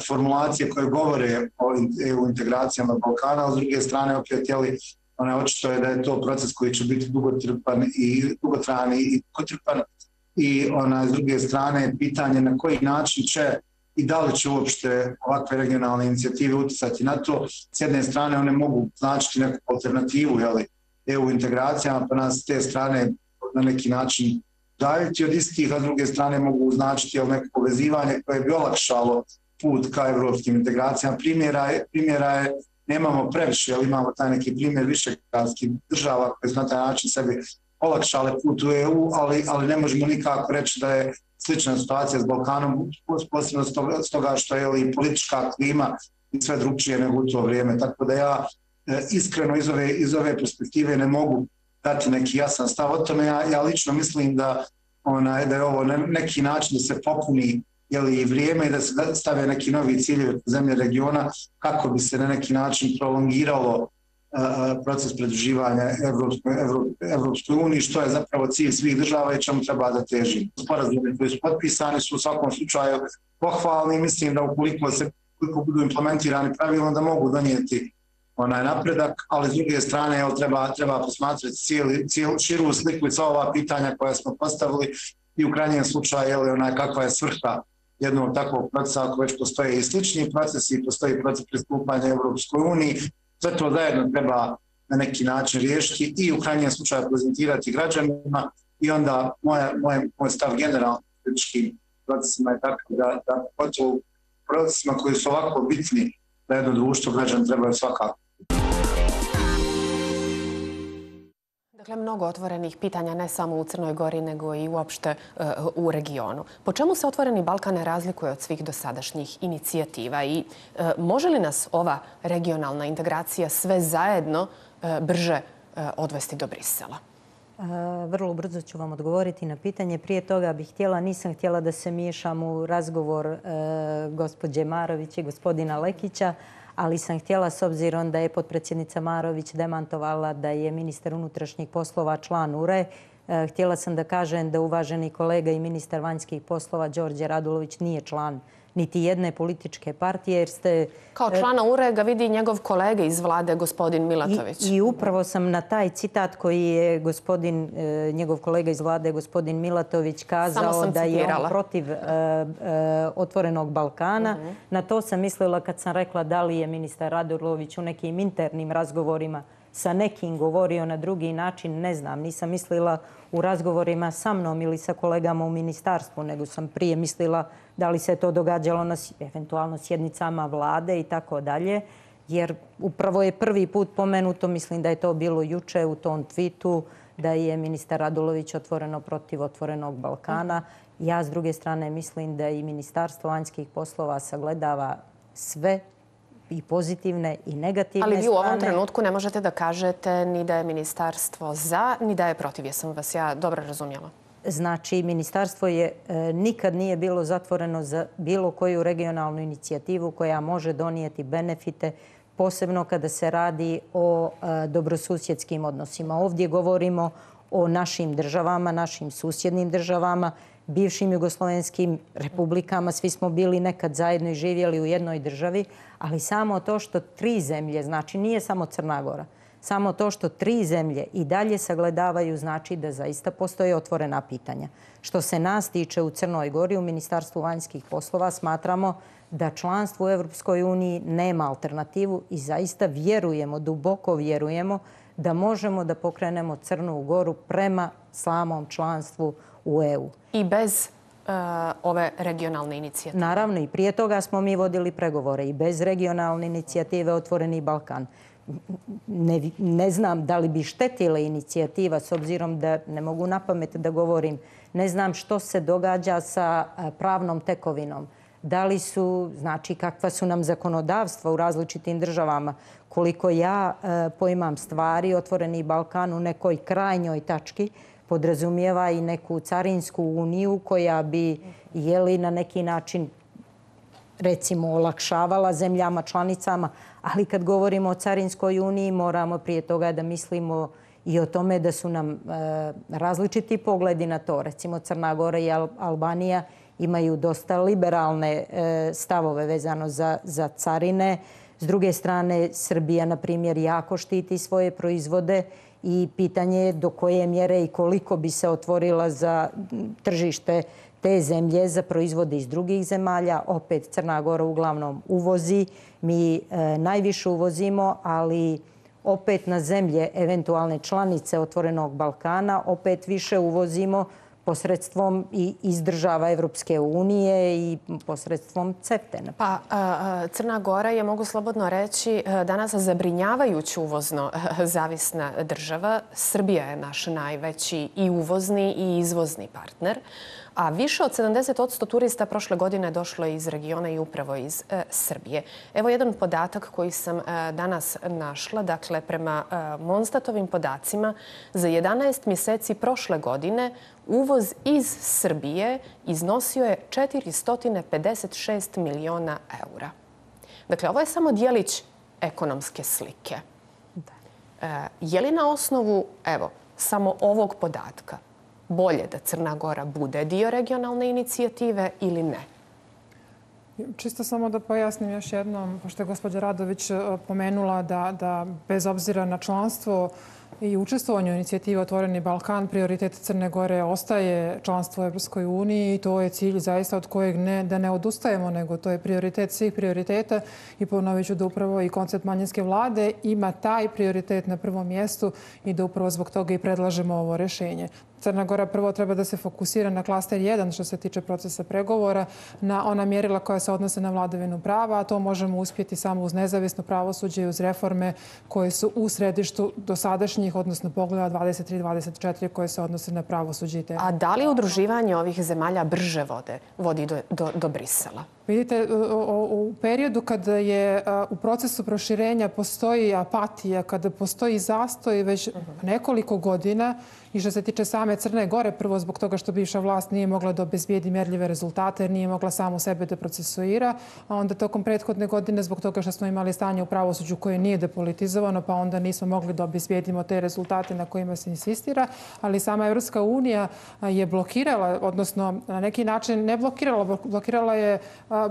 formulacije koje govore o E U integracijama Balkana, a s druge strane opet jeli, ona očito je da je to proces koji će biti dugotrpan i dugotrajan i dugotrpan i ona s druge strane pitanje na koji način će i da li će uopšte ovakve regionalne inicijative utjecati na to. S jedne strane one mogu značiti neku alternativu jeli, E U integracijama, pa nas s te strane na neki način daljiti od istih, a s druge strane mogu značiti jel, neko povezivanje koje bi olakšalo put ka evropskim integracijama. Primjera je, primjera je nemamo previše, ali imamo taj neki primjer višegradskih država koje su na taj način sebi olakšale put u E U, ali, ali ne možemo nikako reći da je slična situacija s Balkanom, posebno s toga što je i politička klima i sve drugčije nego u to vrijeme. Tako da ja e, iskreno iz ove, iz ove perspektive ne mogu dati neki jasan stav o tome. Ja, ja lično mislim da, ona, da je ovo ne, neki način da se popuni jeli, i vrijeme i da se stave neki novi ciljevi zemlje regiona kako bi se na neki način prolongiralo uh, proces pridruživanja Evropskoj, Evropskoj uniji, što je zapravo cilj svih država i čemu treba da teži. Sporazumi koji su potpisani su u svakom slučaju pohvalni i mislim da ukoliko se ukoliko budu implementirani pravilno da mogu donijeti onaj napredak, ali s druge strane evo, treba, treba posmatrati cijeli, cijelu širu sliku i sva ova pitanja koja smo postavili i u krajnjem slučaju je li onaj, kakva je svrha jednog takvog procesa ako već postoje i slični procesi i postoji proces pristupanja Evropskoj uniji. Sve to zajedno treba na neki način riješiti i u krajnjem slučaju prezentirati građanima i onda moja, moj, moj stav generalno političkim procesima je tako da, da pogotovo procesima koji su ovako bitni da jedno društvo građana trebaju svakako. Dakle, mnogo otvorenih pitanja ne samo u Crnoj Gori, nego i uopšte uh, u regionu. Po čemu se Otvoreni Balkan razlikuje od svih dosadašnjih inicijativa i uh, može li nas ova regionalna integracija sve zajedno uh, brže uh, odvesti do Brisela? Vrlo brzo ću vam odgovoriti na pitanje. Prije toga bih htjela, nisam htjela da se miješam u razgovor gospođe Marović i gospodina Lekića, ali sam htjela, s obzirom da je potpredsjednica Marović demantovala da je ministar unutrašnjih poslova član U R E, htjela sam da kažem da uvaženi kolega i ministar vanjskih poslova Đorđe Radulović nije član niti jedne političke partije, jer ste... Kao člana U R E ga vidi njegov kolega iz vlade, gospodin Milatović. I, i upravo sam na taj citat koji je gospodin, njegov kolega iz vlade, gospodin Milatović, kazao da je on protiv uh, uh, otvorenog Balkana. Uh-huh. Na to sam mislila kad sam rekla da li je ministar Radulović u nekim internim razgovorima sa nekim govorio na drugi način, ne znam. Nisam mislila u razgovorima sa mnom ili sa kolegama u ministarstvu, nego sam prije mislila da li se to događalo na eventualno sjednicama vlade i tako dalje. Jer upravo je prvi put pomenuto, mislim da je to bilo juče u tom tweetu, da je ministar Radulović otvoreno protiv otvorenog Balkana. Ja s druge strane mislim da i Ministarstvo vanjskih poslova sagledava sve i pozitivne i negativne strane. Ali vi u ovom trenutku ne možete da kažete ni da je ministarstvo za, ni da je protiv. Jesam vas ja dobro razumjela? Znači, ministarstvo je e, nikad nije bilo zatvoreno za bilo koju regionalnu inicijativu koja može donijeti benefite, posebno kada se radi o e, dobrosusjedskim odnosima. Ovdje govorimo o našim državama, našim susjednim državama, bivšim jugoslovenskim republikama. Svi smo bili nekad zajedno i živjeli u jednoj državi, ali samo to što tri zemlje, znači nije samo Crna Gora, samo to što tri zemlje i dalje sagledavaju znači da zaista postoje otvorena pitanja. Što se nas tiče u Crnoj Gori, u Ministarstvu vanjskih poslova, smatramo da članstvo u Europskoj uniji nema alternativu i zaista vjerujemo, duboko vjerujemo da možemo da pokrenemo Crnu Goru prema samom članstvu u E U. I bez uh, ove regionalne inicijative? Naravno, i prije toga smo mi vodili pregovore i bez regionalne inicijative Otvoreni Balkan. Ne, ne znam da li bi štetila inicijativa, s obzirom da ne mogu na pamet da govorim. Ne znam što se događa sa pravnom tekovinom. Da li su, znači kakva su nam zakonodavstva u različitim državama. Koliko ja e, poimam stvari, Otvoreni Balkan u nekoj krajnjoj tački podrazumijeva i neku carinsku uniju koja bi jeli na neki način recimo olakšavala zemljama članicama, ali kad govorimo o carinskoj uniji moramo prije toga da mislimo i o tome da su nam e, različiti pogledi na to. Recimo Crna Gora i Al Albanija imaju dosta liberalne e, stavove vezano za, za carine. S druge strane, Srbija, na primjer, jako štiti svoje proizvode i pitanje je do koje mjere i koliko bi se otvorila za tržište te zemlje za proizvode iz drugih zemalja. Opet Crna Gora uglavnom uvozi. Mi e, najviše uvozimo, ali opet na zemlje eventualne članice Otvorenog Balkana opet više uvozimo posredstvom i iz država Evropske unije i posredstvom CEFTA. Pa Crna Gora je, mogu slobodno reći, danas zabrinjavajući uvozno zavisna država. Srbija je naš najveći i uvozni i izvozni partner. A više od sedamdeset posto turista prošle godine došlo iz regiona i upravo iz e, Srbije. Evo jedan podatak koji sam e, danas našla. Dakle, prema e, Monstatovim podacima, za jedanaest mjeseci prošle godine uvoz iz Srbije iznosio je četiristo pedeset šest miliona eura. Dakle, ovo je samo dijelić ekonomske slike. E, je li na osnovu, evo, samo ovog podatka bolje da Crna Gora bude dio regionalne inicijative ili ne? Čisto samo da pojasnim još jednom, pošto je gospođa Radović pomenula da, da bez obzira na članstvo i učestvovanje u inicijativi Otvoreni Balkan, prioritet Crne Gore ostaje članstvo u Evropskoj uniji i to je cilj zaista od kojeg ne, da ne odustajemo, nego to je prioritet svih prioriteta i ponovit ću da upravo i koncept manjinske vlade ima taj prioritet na prvom mjestu i da upravo zbog toga i predlažemo ovo rješenje. Crna Gora prvo treba da se fokusira na klaster jedan što se tiče procesa pregovora, na ona mjerila koja se odnose na vladavinu prava, a to možemo uspjeti samo uz nezavisno pravosuđe i uz reforme koje su u središtu dosadašnjih dosadašnjih, odnosno pogleda dvadeset tri dvadeset četiri koje se odnose na pravosuđe i te. A da li udruživanje ovih zemalja brže vode, vodi do, do, do Brisela? Vidite, u periodu kada je u procesu proširenja postoji apatija, kada postoji zastoj već nekoliko godina i što se tiče same Crne Gore, prvo zbog toga što bivša vlast nije mogla da obezbijedi mjerljive rezultate, jer nije mogla samo sebe da procesuira, a onda tokom prethodne godine zbog toga što smo imali stanje u pravosuđu koje nije depolitizovano, pa onda nismo mogli da obezbijedimo te rezultate na kojima se insistira, ali sama Evropska unija je blokirala, odnosno na neki način ne blokirala, blokirala je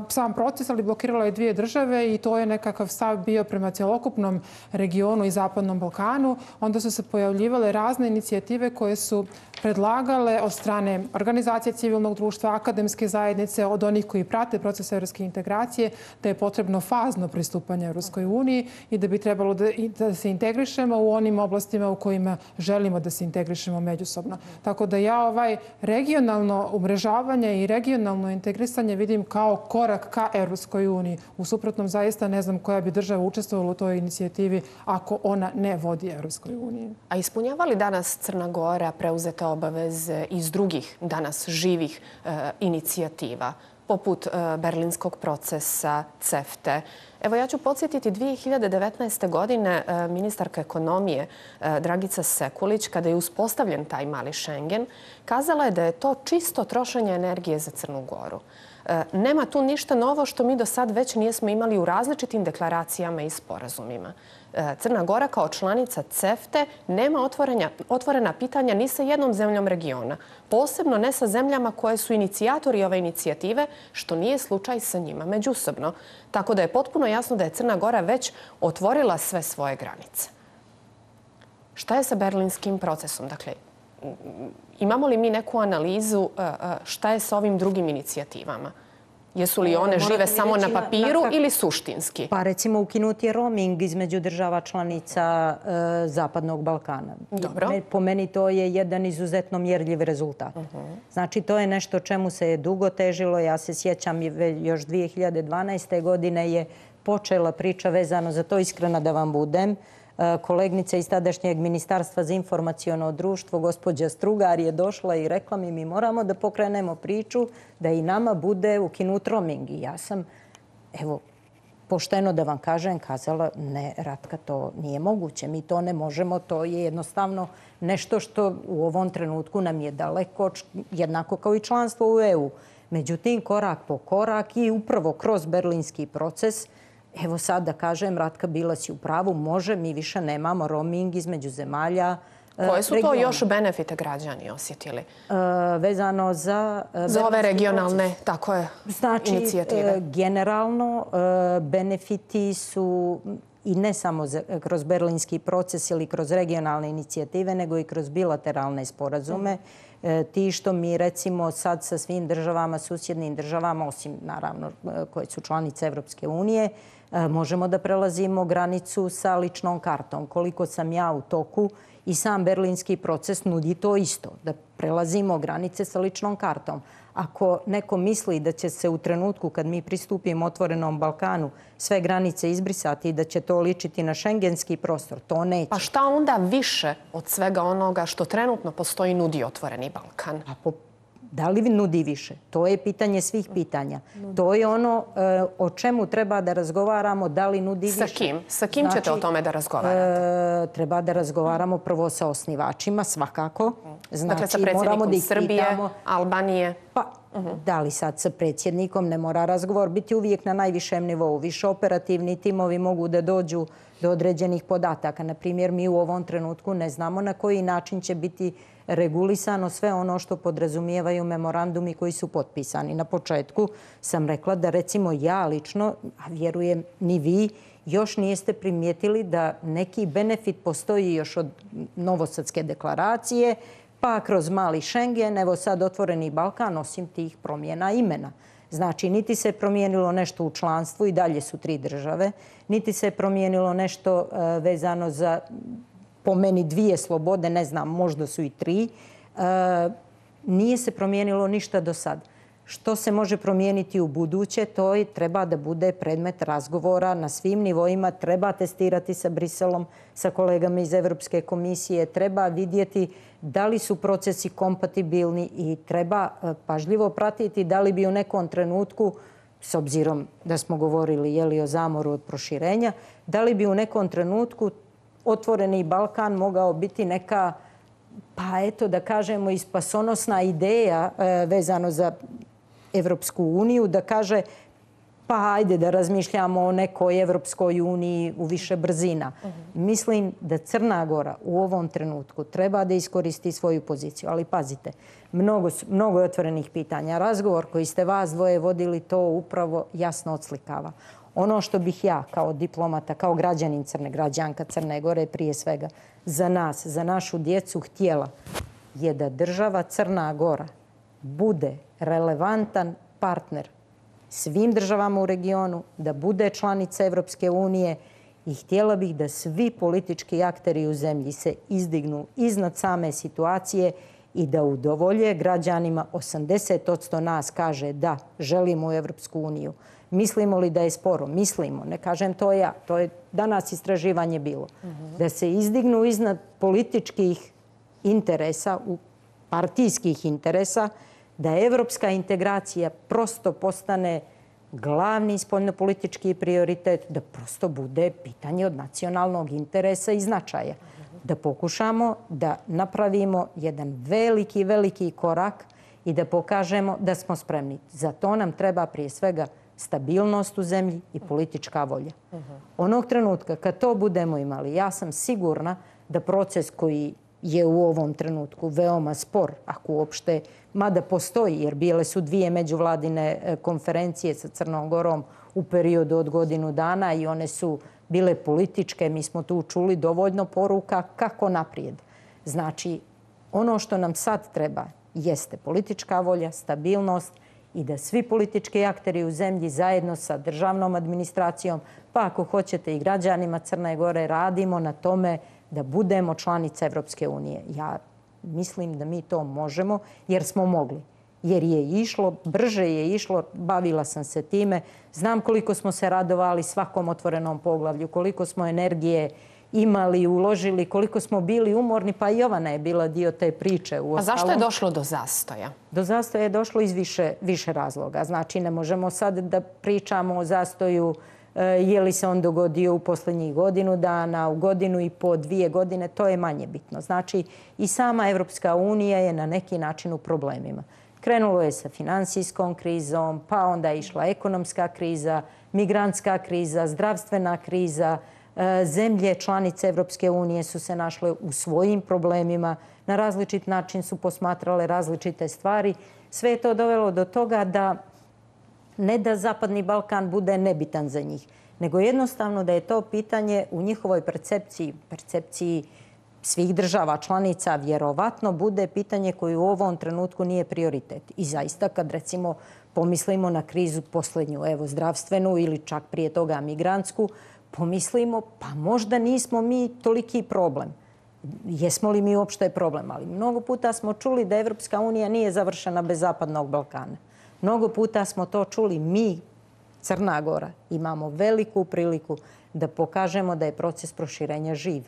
sam proces, ali blokirala je dvije države i to je nekakav stav bio prema cjelokupnom regionu i Zapadnom Balkanu. Onda su se pojavljivale razne inicijative koje su predlagale od strane organizacije civilnog društva, akademske zajednice, od onih koji prate proces evropske integracije, da je potrebno fazno pristupanje Evropskoj uniji i da bi trebalo da, da se integrišemo u onim oblastima u kojima želimo da se integrišemo međusobno. Tako da ja ovaj regionalno umrežavanje i regionalno integrisanje vidim kao korak ka Evropskoj uniji. U suprotnom, zaista ne znam koja bi država učestvovala u toj inicijativi ako ona ne vodi Evropskoj uniji. A ispunjava li danas Crna Gora preuzete obaveze iz drugih danas živih e, inicijativa, poput e, Berlinskog procesa, CEFTE? Evo, ja ću podsjetiti dvije hiljade devetnaeste. godine e, ministarka ekonomije e, Dragica Sekulić, kada je uspostavljen taj mali Schengen, kazala je da je to čisto trošenje energije za Crnu Goru. Nema tu ništa novo što mi do sad već nijesmo imali u različitim deklaracijama i sporazumima. Crna Gora kao članica CEFTE nema otvorenja, otvorena pitanja ni sa jednom zemljom regiona. Posebno ne sa zemljama koje su inicijatori ove inicijative, što nije slučaj sa njima međusobno. Tako da je potpuno jasno da je Crna Gora već otvorila sve svoje granice. Šta je sa berlinskim procesom? Dakle, imamo li mi neku analizu šta je sa ovim drugim inicijativama? Jesu li one žive samo na papiru ili suštinski? Pa recimo ukinuti je roaming između država članica e, Zapadnog Balkana. Dobro. Po meni to je jedan izuzetno mjerljiv rezultat. Uh -huh. Znači to je nešto čemu se je dugo težilo. Ja se sjećam još dvije hiljade dvanaeste. godine je počela priča vezano za to, iskrena da vam budem. Kolegnica iz tadašnjeg Ministarstva za informaciono društvo, gospođa Strugar, je došla i rekla mi mi moramo da pokrenemo priču da i nama bude ukinut roaming. I ja sam, evo, pošteno da vam kažem, kazala ne, Ratka, to nije moguće. Mi to ne možemo, to je jednostavno nešto što u ovom trenutku nam je daleko, jednako kao i članstvo u E U. Međutim, korak po korak i upravo kroz berlinski proces, evo sad da kažem, Ratka, bila si u pravu, može, mi više nemamo roaming između zemalja regiona. Koje su to još benefite građani osjetili? Vezano za... Za ove regionalne, tako je, inicijative. Znači, generalno, benefiti su i ne samo kroz berlinski proces ili kroz regionalne inicijative, nego i kroz bilateralne sporazume. Ti što mi recimo sad sa svim državama, susjednim državama, osim naravno koje su članice Evropske unije, možemo da prelazimo granicu sa ličnom kartom. Koliko sam ja u toku i sam berlinski proces nudi to isto, da prelazimo granice sa ličnom kartom. Ako neko misli da će se u trenutku kad mi pristupimo otvorenom Balkanu sve granice izbrisati i da će to ličiti na šengenski prostor, to neće. Pa šta onda više od svega onoga što trenutno postoji nudi otvoreni Balkan? A po, da li nudi više? To je pitanje svih pitanja. To je ono e, o čemu treba da razgovaramo, da li nudi više. Sa kim? Sa kim znači, ćete o tome da razgovarate? E, treba da razgovaramo prvo sa osnivačima, svakako. Znači, dakle, sa predsjednikom da Srbije, pitamo, Albanije? Pa, uh-huh. Da li sad sa predsjednikom ne mora razgovor biti uvijek na najvišem nivou. Više operativni timovi mogu da dođu do određenih podataka. Na primjer, mi u ovom trenutku ne znamo na koji način će biti regulisano sve ono što podrazumijevaju memorandumi koji su potpisani. Na početku sam rekla da recimo ja lično, a vjerujem ni vi, još nijeste primijetili da neki benefit postoji još od Novosadske deklaracije, pa kroz mali Schengen, evo sad otvoreni Balkan, osim tih promjena imena. Znači, niti se promijenilo nešto u članstvu, i dalje su tri države, niti se promijenilo nešto vezano za, po meni, dvije slobode, ne znam, možda su i tri. Nije se promijenilo ništa do sad. Što se može promijeniti u buduće, to i treba da bude predmet razgovora na svim nivoima. Treba testirati sa Briselom, sa kolegama iz Evropske komisije. Treba vidjeti da li su procesi kompatibilni i treba pažljivo pratiti da li bi u nekom trenutku, s obzirom da smo govorili je li o zamoru od proširenja, da li bi u nekom trenutku Otvoreni Balkan mogao biti neka, pa eto da kažemo, i spasonosna ideja vezano za Evropsku uniju, da kaže pa ajde da razmišljamo o nekoj Evropskoj uniji u više brzina. Mislim da Crna Gora u ovom trenutku treba da iskoristi svoju poziciju. Ali pazite, mnogo, mnogo je otvorenih pitanja. Razgovor koji ste vas dvoje vodili to upravo jasno odslikava. Ono što bih ja kao diplomata, kao građanin Crne, građanka Crne Gore prije svega, za nas, za našu djecu htjela je da država Crna Gora bude relevantan partner svim državama u regionu, da bude članica Evropske unije i htjela bih da svi politički akteri u zemlji se izdignu iznad same situacije i da udovolje građanima. osamdeset posto nas kaže da želimo u Evropsku uniju. Mislimo li da je sporo? Mislimo. Ne kažem to ja. To je danas istraživanje bilo. Da se izdignu iznad političkih interesa, partijskih interesa, da evropska integracija prosto postane glavni spoljnopolitički prioritet, da prosto bude pitanje od nacionalnog interesa i značaja. Da pokušamo da napravimo jedan veliki, veliki korak i da pokažemo da smo spremni. Za to nam treba prije svega stabilnost u zemlji i politička volja. Onog trenutka kad to budemo imali, ja sam sigurna da proces koji je u ovom trenutku veoma spor, ako uopšte, mada postoji, jer bile su dvije međuvladine konferencije sa Crnom Gorom u periodu od godinu dana i one su bile političke. Mi smo tu čuli dovoljno poruka kako naprijed. Znači, ono što nam sad treba jeste politička volja, stabilnost i da svi politički akteri u zemlji zajedno sa državnom administracijom, pa ako hoćete i građanima Crne Gore, radimo na tome da budemo članica Evropske unije. Ja mislim da mi to možemo jer smo mogli. Jer je išlo, brže je išlo, bavila sam se time. Znam koliko smo se radovali svakom otvorenom poglavlju, koliko smo energije imali, uložili, koliko smo bili umorni, pa i Jovana je bila dio te priče. A zašto je došlo do zastoja? Do zastoja je došlo iz više, više razloga. Znači, ne možemo sad da pričamo o zastoju je li se on dogodio u posljednjih godinu dana, u godinu i po, dvije godine, to je manje bitno. Znači, i sama Evropska unija je na neki način u problemima. Krenulo je sa finansijskom krizom, pa onda je išla ekonomska kriza, migrantska kriza, zdravstvena kriza. Zemlje članice Evropske unije su se našle u svojim problemima, na različit način su posmatrale različite stvari. Sve je to dovelo do toga da ne da Zapadni Balkan bude nebitan za njih, nego jednostavno da je to pitanje u njihovoj percepciji, percepciji svih država članica, vjerovatno bude pitanje koje u ovom trenutku nije prioritet. I zaista kad recimo pomislimo na krizu posljednju, evo zdravstvenu ili čak prije toga migrantsku, pomislimo pa možda nismo mi toliki problem. Jesmo li mi uopšte problem? Ali mnogo puta smo čuli da Evropska unija nije završena bez Zapadnog Balkana. Mnogo puta smo to čuli. Mi, Crna Gora, imamo veliku priliku da pokažemo da je proces proširenja živ.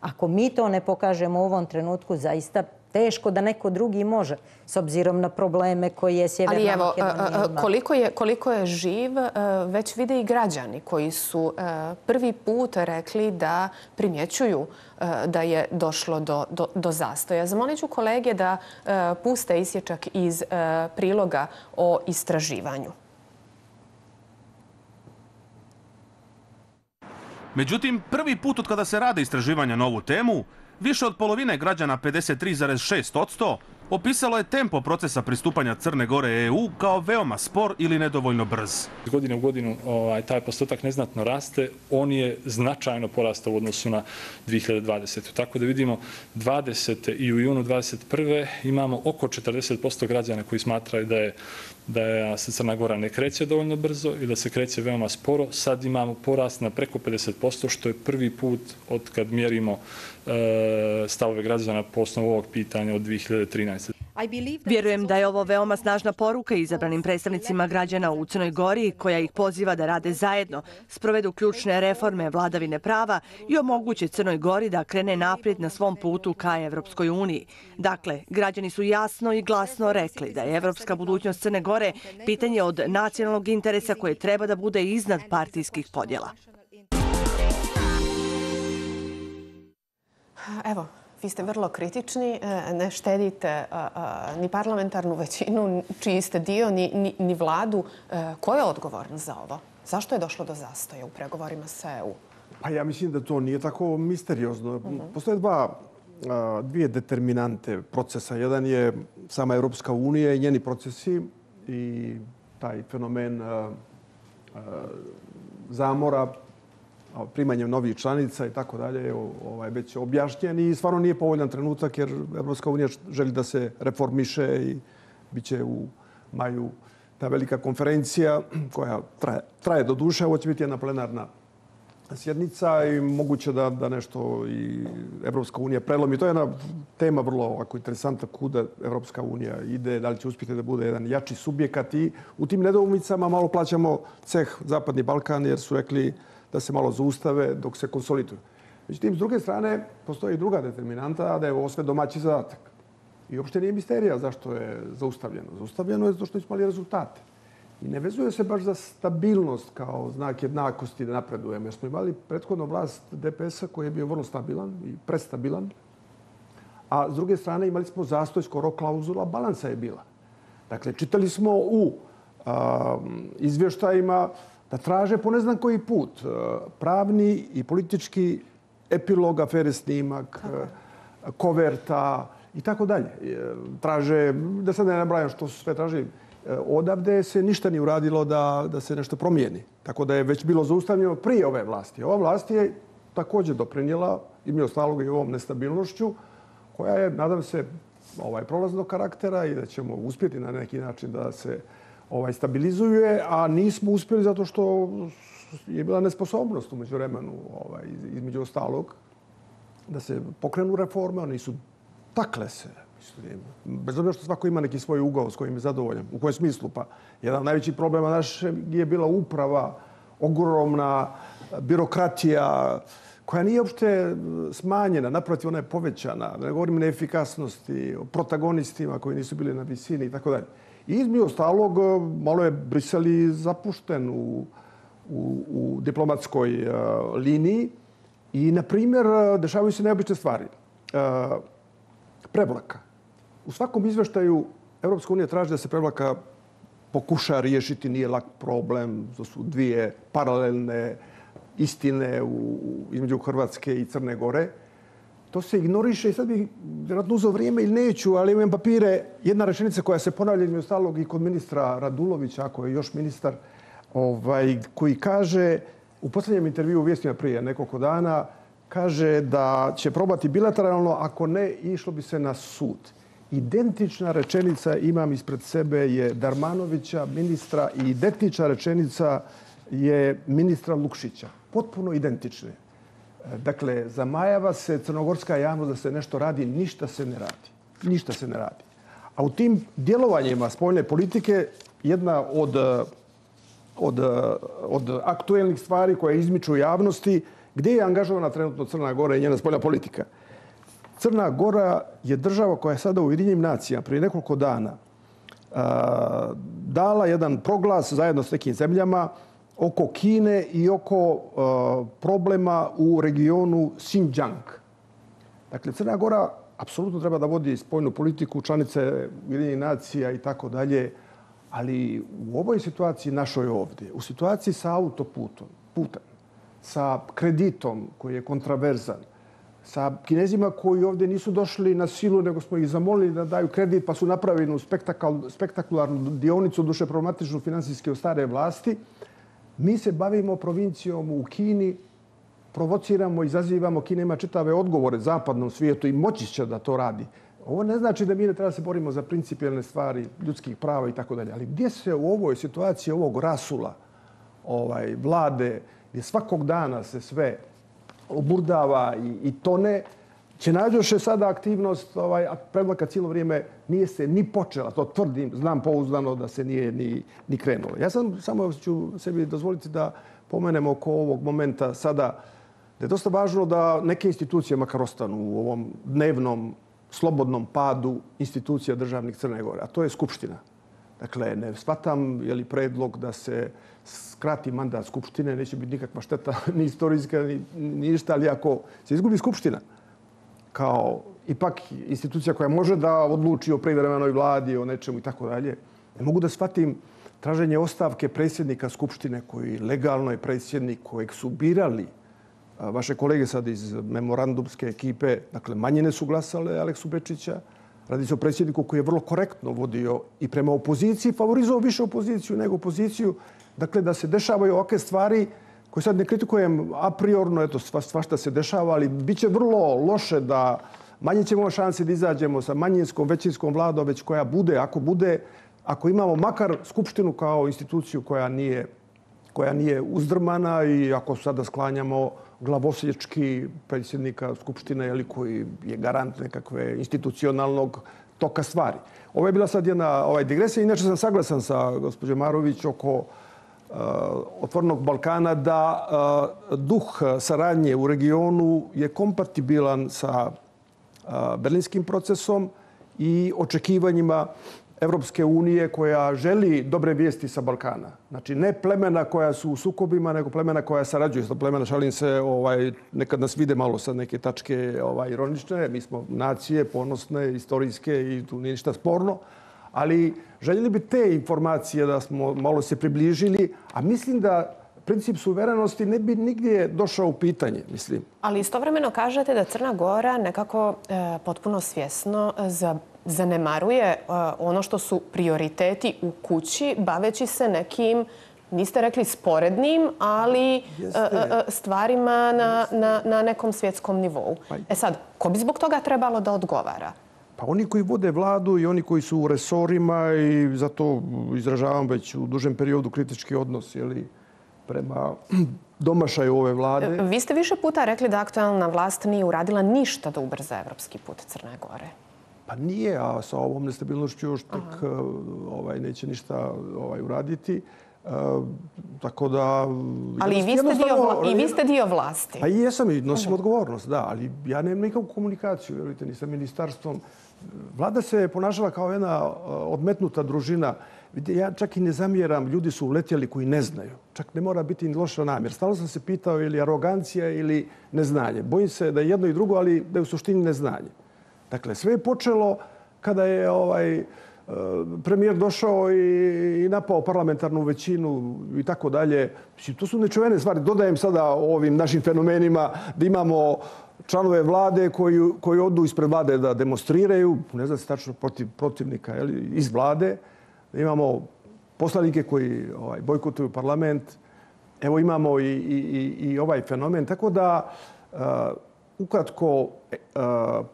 Ako mi to ne pokažemo u ovom trenutku, zaista teško da neko drugi može, s obzirom na probleme koje je Sjeverna Makedonija ima. Ali evo, koliko je, koliko je živ, već vide i građani koji su prvi put rekli da primjećuju da je došlo do, do, do zastoja. Zamolit ću kolege da puste isječak iz priloga o istraživanju. Međutim, prvi put od kada se rade istraživanja na ovu temu, više od polovine građana, pedeset tri zarez šest posto, opisalo je tempo procesa pristupanja Crne Gore E U kao veoma spor ili nedovoljno brz. Iz godine u godinu ovaj, taj postotak neznatno raste, on je značajno porastao u odnosu na dvije hiljade dvadesete. Tako da vidimo dvadesete i u junu dvadeset prve imamo oko četrdeset posto građana koji smatraju da je da se Crna Gora ne kreće dovoljno brzo i da se kreće veoma sporo. Sad imamo porast na preko pedeset posto, što je prvi put od kad mjerimo stavove građana po osnovu ovog pitanja od dvije hiljade trinaeste. Vjerujem da je ovo veoma snažna poruka izabranim predstavnicima građana u Crnoj Gori, koja ih poziva da rade zajedno, sprovedu ključne reforme vladavine prava i omoguće Crnoj Gori da krene naprijed na svom putu ka Evropskoj uniji. Dakle, građani su jasno i glasno rekli da je evropska budućnost Crne Gore pitanje od nacionalnog interesa koje treba da bude iznad partijskih podjela. Evo, vi ste vrlo kritični, ne štedite ni parlamentarnu većinu, čiji ste dio, ni, ni, ni vladu. Ko je odgovoran za ovo? Zašto je došlo do zastoja u pregovorima sa E U? Pa ja mislim da to nije tako misteriozno. Postoje dva, dvije determinante procesa. Jedan je sama Europska unija i njeni procesi i taj fenomen zamora, primanjem novih članica i tako dalje, ovaj, već objašnjen i stvarno nije povoljan trenutak jer Evropska unija želi da se reformiše i bit će u maju ta velika konferencija koja traje, traje do duše. Ovo će biti jedna plenarna sjednica i moguće da, da nešto i Evropska unija prelomi. To je jedna tema vrlo ovako interesantna kuda Evropska unija ide, da li će uspjeti da bude jedan jači subjekat i u tim nedoumicama malo plaćamo ceh Zapadni Balkan jer su rekli da se malo zaustave dok se konsoliduju. Međutim, s druge strane, postoji i druga determinanta, da je ovo sve domaći zadatak. I uopšte nije misterija zašto je zaustavljeno. Zaustavljeno je zato što smo imali rezultate. I ne vezuje se baš za stabilnost kao znak jednakosti da napredujemo. Jer smo imali prethodno vlast D P S-a koji je bio vrlo stabilan i prestabilan. A s druge strane imali smo zastoj, skoro klauzula balansa je bila. Dakle, čitali smo u a, izvještajima da traže po ne znam koji put pravni i politički epilog, afere snimak, koverta i tako dalje. Traže, da sad ne nabrajam što su sve traži, odavde se ništa nije uradilo da, da se nešto promijeni. Tako da je već bilo zaustavljeno prije ove vlasti. Ova vlast je također doprinijela, im je ostalo i ovom nestabilnošću, koja je, nadam se, ovaj, prolaznog karaktera i da ćemo uspjeti na neki način da se ovaj, stabilizuje, a nismo uspjeli zato što je bila nesposobnost umeđu vremenu, ovaj, između ostalog, da se pokrenu reforme. Oni su takle se, mislim, bez obzira što svako ima neki svoj ugao s kojim je zadovoljan. U kojem smislu? Pa jedan od najvećih problema naše je bila uprava, ogromna birokratija, koja nije uopšte smanjena, naprotiv ona je povećana. Da ne govorim o neefikasnosti, o protagonistima koji nisu bili na visini i tako dalje. I između ostalog, malo je Brisel i zapušten u, u, u diplomatskoj uh, liniji i, na primjer, dešavaju se neobične stvari. Uh, prevlaka. U svakom izveštaju Evropska unija traži da se prevlaka pokuša riješiti, nije lak problem. To su dvije paralelne istine u, između Hrvatske i Crne Gore. To se ignoriše i sad bih vjerojatno uzeo vrijeme ili neću, ali imam papire. Jedna rečenica koja se ponavlja između ostalog i kod ministra Radulovića, ako je još ministar, ovaj, koji kaže u posljednjem intervju u Vijestima prije nekoliko dana, kaže da će probati bilateralno, ako ne, išlo bi se na sud. Identična rečenica imam ispred sebe je Darmanovića, ministra, i identična rečenica je ministra Lukšića. Potpuno identične. Dakle, zamajava se crnogorska javnost da se nešto radi, ništa se ne radi. Ništa se ne radi. A u tim djelovanjima spoljne politike jedna od, od, od aktuelnih stvari koje izmiču javnosti, gdje je angažovana trenutno Crna Gora i njena spoljna politika. Crna Gora je država koja je sada u Ujedinjenim nacijama prije nekoliko dana a, dala jedan proglas zajedno s nekim zemljama oko Kine i oko uh, problema u regionu Xinjiang. Dakle, Crna Gora apsolutno treba da vodi spoljnu politiku, članice Ujedinjenih nacija i tako dalje, ali u ovoj situaciji našoj ovdje, u situaciji sa autoputom, putem, sa kreditom koji je kontraverzan, sa Kinezima koji ovdje nisu došli na silu, nego smo ih zamolili da daju kredit, pa su napravili spektakularnu dionicu, duše problematičnu finansijske od stare vlasti. Mi se bavimo provincijom u Kini, provociramo, izazivamo. Kina ima čitave odgovore zapadnom svijetu i moći će da to radi. Ovo ne znači da mi ne treba se borimo za principijelne stvari ljudskih prava i tako dalje. Ali gdje se u ovoj situaciji ovog rasula ovaj, vlade, gdje svakog dana se sve oburdava i, i tone, će nađoše sada aktivnost, ovaj, predlaka cijelo vrijeme nije se ni počela, to tvrdim, znam pouzdano da se nije ni, ni krenulo. Ja sam samo ću sebi dozvoliti da pomenem oko ovog momenta sada da je dosta važno da neke institucije makar ostanu u ovom dnevnom slobodnom padu institucija državnih Crne Gore, a to je Skupština. Dakle, ne shvatam je li predlog da se skrati mandat Skupštine, neće biti nikakva šteta ni istorijska, ni, ni ništa, ali ako se izgubi Skupština kao ipak institucija koja može da odluči o privremenoj vladi, o nečemu i tako dalje, ne mogu da shvatim traženje ostavke predsjednika Skupštine koji legalno je predsjednik kojeg su birali vaše kolege sad iz memorandumske ekipe, dakle manjine su glasale Aleksu Bečića. Radi se o predsjedniku koji je vrlo korektno vodio i prema opoziciji, favorizovao više opoziciju nego opoziciju. Dakle, da se dešavaju ovakve stvari koje sad ne kritikujem a priorno, eto, sva, svašta se dešava, ali bit će vrlo loše da manje ćemo šanse da izađemo sa manjinskom, većinskom vladom, već koja bude, ako bude, ako imamo makar Skupštinu kao instituciju koja nije, koja nije uzdrmana i ako sada sklanjamo glavosječki predsjednika Skupštine, jeli, koji je garant nekakve institucionalnog toka stvari. Ovo je bila sad jedna ovaj, digresija. Inače sam saglasan sa gospođom Marović oko uh, Otvorenog Balkana da uh, duh saradnje u regionu je kompatibilan sa uh, berlinskim procesom i očekivanjima Evropske unije koja želi dobre vijesti sa Balkana. Znači, ne plemena koja su u sukobima, nego plemena koja sarađuju. Sa plemena, šalim se, ovaj, nekad nas vide malo sa neke tačke ovaj, ironične. Mi smo nacije, ponosne, istorijske i tu nije ništa sporno. Ali željeli bi te informacije da smo malo se približili, a mislim da princip suverenosti ne bi nigdje došao u pitanje, mislim. Ali istovremeno kažete da Crna Gora nekako e, potpuno svjesno za zanemaruje uh, ono što su prioriteti u kući, baveći se nekim, niste rekli sporednim, ali uh, uh, stvarima na, na, na nekom svjetskom nivou. E sad, ko bi zbog toga trebalo da odgovara? Pa oni koji vode vladu i oni koji su u resorima i zato izražavam već u dužem periodu kritički odnos, jeli, prema domašaju ove vlade. Vi ste više puta rekli da aktualna vlast nije uradila ništa da ubrza evropski put Crne Gore. Pa nije, a sa ovom nestabilnošću još tek ovaj, neće ništa ovaj, uraditi. Uh, tako da... Ali i vi, ste dio, vla, i vi ste dio vlasti. Pa i jesam i nosim uh-huh. odgovornost, da. Ali ja nemam nikakvu komunikaciju, vjerujte, ni sa ministarstvom. Vlada se ponašala kao jedna odmetnuta družina. Ja čak i ne zamjeram, ljudi su uletjeli koji ne znaju. Čak ne mora biti ni loša namjer. Stalno sam se pitao ili arogancija ili neznanje. Bojim se da je jedno i drugo, ali da je u suštini neznanje. Dakle, sve je počelo kada je ovaj, premijer došao i, i napao parlamentarnu većinu i tako dalje. To su nečuvene stvari. Dodajem sada ovim našim fenomenima da imamo članove vlade koji, koji odu ispred vlade da demonstriraju, ne znam se tačno protiv protivnika, jeli, iz vlade. Da imamo poslanike koji ovaj, bojkotuju parlament. Evo imamo i, i, i ovaj fenomen. Tako da... Uh, Ukratko,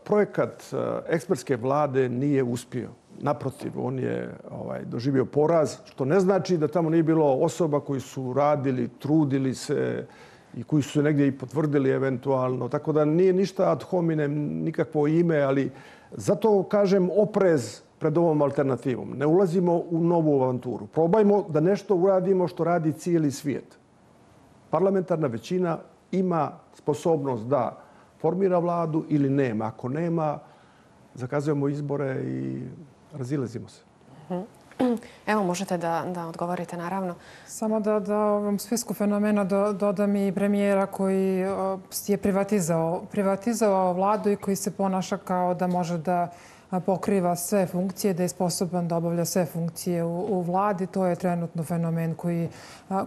projekat ekspertske vlade nije uspio. Naprotiv, on je ovaj, doživio poraz, što ne znači da tamo nije bilo osoba koji su radili, trudili se i koji su se negdje i potvrdili eventualno. Tako da nije ništa ad hominem, nikakvo ime, ali zato kažem oprez pred ovom alternativom. Ne ulazimo u novu avanturu. Probajmo da nešto uradimo što radi cijeli svijet. Parlamentarna većina ima sposobnost da formira vladu ili nema. Ako nema, zakazujemo izbore i razilazimo se. Evo, možete da, da odgovorite, naravno. Samo da, da ovom spisku fenomena do, dodam i premijera koji je privatizao, privatizao vladu i koji se ponaša kao da može da pokriva sve funkcije, da je sposoban da obavlja sve funkcije u, u vladi. To je trenutno fenomen koji,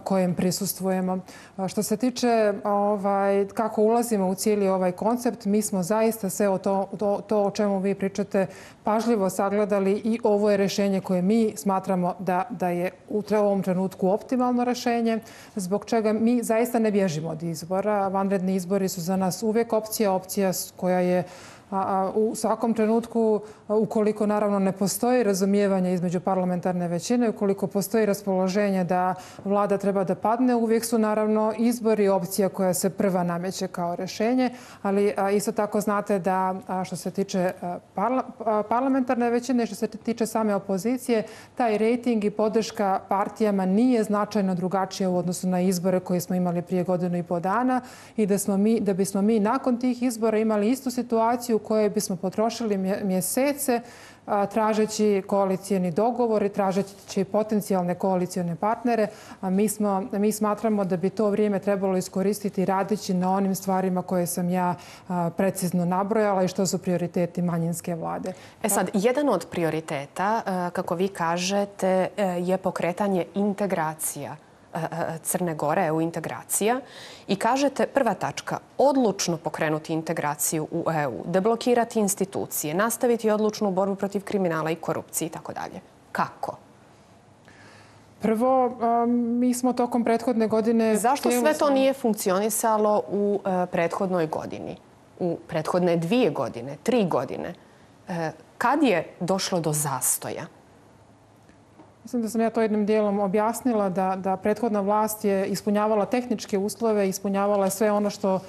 kojem prisustvujemo. Što se tiče ovaj, kako ulazimo u cijeli ovaj koncept, mi smo zaista sve o to, to, to o čemu vi pričate pažljivo sagledali i ovo je rješenje koje mi smatramo da, da je u ovom trenutku optimalno rješenje, zbog čega mi zaista ne bježimo od izbora. Vanredni izbori su za nas uvijek opcija, opcija koja je U svakom trenutku, ukoliko naravno ne postoji razumijevanje između parlamentarne većine, ukoliko postoji raspoloženje da vlada treba da padne, uvijek su naravno izbori opcija koja se prva nameće kao rješenje, ali isto tako znate da što se tiče parlamentarne većine, što se tiče same opozicije, taj rejting i podrška partijama nije značajno drugačija u odnosu na izbore koje smo imali prije godinu i po dana i da, smo mi, da bismo mi nakon tih izbora imali istu situaciju u kojoj bismo potrošili mjesece tražeći koalicijeni dogovor i tražeći potencijalne koalicijone partnere. A mi, smo, mi smatramo da bi to vrijeme trebalo iskoristiti radeći na onim stvarima koje sam ja precizno nabrojala i što su prioriteti manjinske vlade. E sad, jedan od prioriteta, kako vi kažete, je pokretanje integracija Crne Gore, E U integracija. I kažete, prva tačka, odlučno pokrenuti integraciju u E U, deblokirati institucije, nastaviti odlučnu borbu protiv kriminala i korupcije i tako dalje. Kako? Prvo, mi smo tokom prethodne godine... Zašto sve to nije funkcionisalo u prethodnoj godini? U prethodne dvije godine, tri godine? Kad je došlo do zastoja? Mislim da sam ja to jednim dijelom objasnila, da, da prethodna vlast je ispunjavala tehničke uslove, ispunjavala sve ono što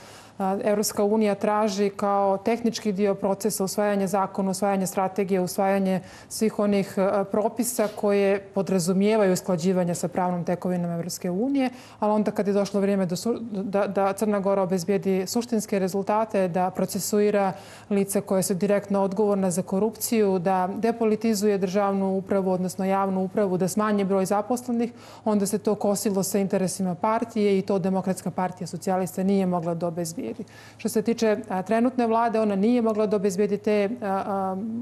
Evropska unija traži kao tehnički dio procesa usvajanja zakona, usvajanje strategije, usvajanje svih onih propisa koje podrazumijevaju usklađivanje sa pravnom tekovinom Evropske unije, ali onda kad je došlo vrijeme da, da, da Crna Gora obezbijedi suštinske rezultate, da procesuira lice koje su direktno odgovorna za korupciju, da depolitizuje državnu upravu, odnosno javnu upravu, da smanji broj zaposlenih, onda se to kosilo sa interesima partije i to Demokratska partija socijalista nije mogla da obezbijedi. Što se tiče trenutne vlade, ona nije mogla da obezbijedi te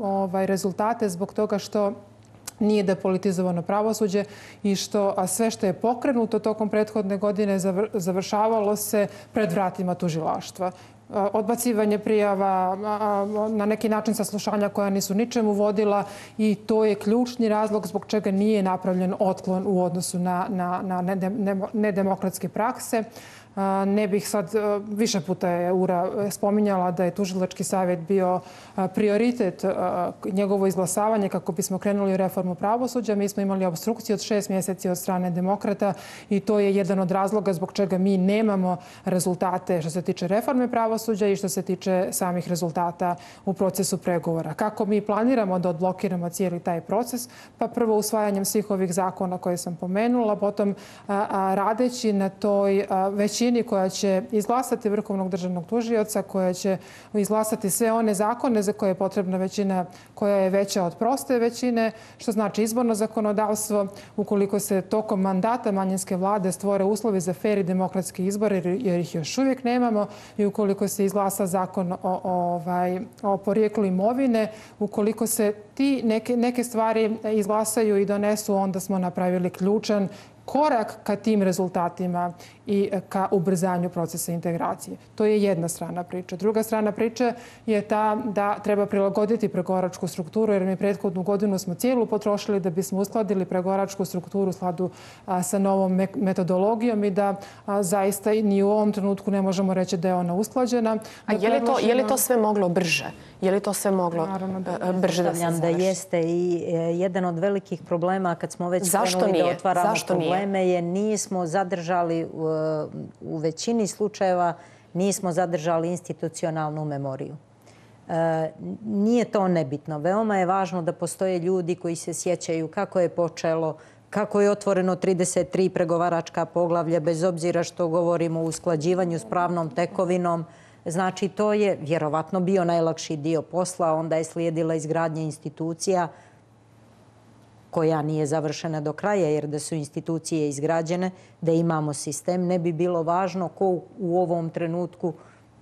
ovaj, rezultate zbog toga što nije depolitizovano pravosuđe i što a sve što je pokrenuto tokom prethodne godine završavalo se pred vratima tužilaštva. Odbacivanje prijava, na neki način saslušanja koja nisu ničemu vodila i to je ključni razlog zbog čega nije napravljen otklon u odnosu na, na, na nedemokratske prakse. Ne bih sad, više puta je Ura spominjala da je tužilački savjet bio prioritet njegovo izglasavanje kako bismo krenuli u reformu pravosuđa. Mi smo imali obstrukciju od šest mjeseci od strane demokrata i to je jedan od razloga zbog čega mi nemamo rezultate što se tiče reforme pravosuđa i što se tiče samih rezultata u procesu pregovora. Kako mi planiramo da odblokiramo cijeli taj proces? Pa prvo usvajanjem svih ovih zakona koje sam pomenula, potom radeći na toj većini koja će izglasati Vrhovnog državnog tužioca, koja će izglasati sve one zakone za koje je potrebna većina koja je veća od proste većine, što znači izborno zakonodavstvo. Ukoliko se tokom mandata manjinske vlade stvore uslovi za fer i demokratske izbore, jer ih još uvijek nemamo, i ukoliko se izglasa zakon o, o, ovaj, o porijeklu imovine, ukoliko se ti neke, neke stvari izglasaju i donesu, onda smo napravili ključan korak ka tim rezultatima i ka ubrzanju procesa integracije. To je jedna strana priče. Druga strana priče je ta da treba prilagoditi pregovaračku strukturu, jer mi prethodnu godinu smo cijelu potrošili da bismo uskladili pregovaračku strukturu u skladu sa novom metodologijom i da a, zaista ni u ovom trenutku ne možemo reći da je ona usklađena. A je li to, je li to sve moglo brže? Je li to sve moglo da, brže da se završi? Da jeste i jedan od velikih problema kad smo već krenuli da otvaramo Zašto probleme nije? je nismo zadržali u, u većini slučajeva nismo zadržali institucionalnu memoriju. E, nije to nebitno. Veoma je važno da postoje ljudi koji se sjećaju kako je počelo, kako je otvoreno trideset tri pregovaračka poglavlja, bez obzira što govorimo o usklađivanju s pravnom tekovinom. Znači, to je vjerovatno bio najlakši dio posla. Onda je slijedila izgradnja institucija koja nije završena do kraja, jer da su institucije izgrađene, da imamo sistem, ne bi bilo važno ko u ovom trenutku,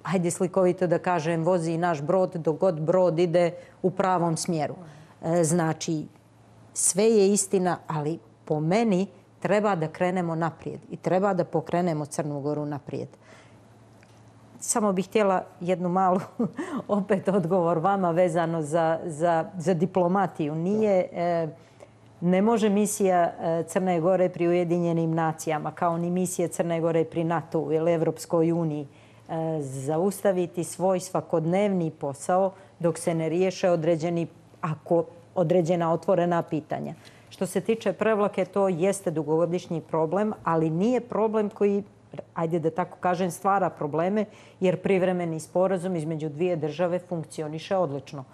hajde slikovito da kažem, vozi naš brod dok god brod ide u pravom smjeru. Znači, sve je istina, ali po meni treba da krenemo naprijed i treba da pokrenemo Crnu Goru naprijed. Samo bih htjela jednu malu opet odgovor vama vezano za, za, za diplomatiju. Nije, e, ne može misija Crne Gore pri Ujedinjenim nacijama, kao ni misija Crne Gore pri NATO-u ili Evropskoj uniji, zaustaviti svoj svakodnevni posao dok se ne riješe određeni, ako određena otvorena pitanja. Što se tiče Prevlake, to jeste dugogodišnji problem, ali nije problem koji, ajde da tako kažem, stvara probleme, jer privremeni sporazum između dvije države funkcioniše odlično.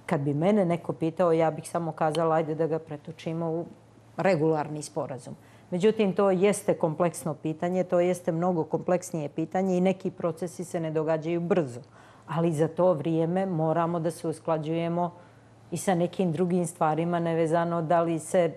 Kad bi mene neko pitao, ja bih samo kazala ajde da ga pretočimo u regularni sporazum. Međutim, to jeste kompleksno pitanje, to jeste mnogo kompleksnije pitanje i neki procesi se ne događaju brzo. Ali za to vrijeme moramo da se usklađujemo i sa nekim drugim stvarima, nevezano da li se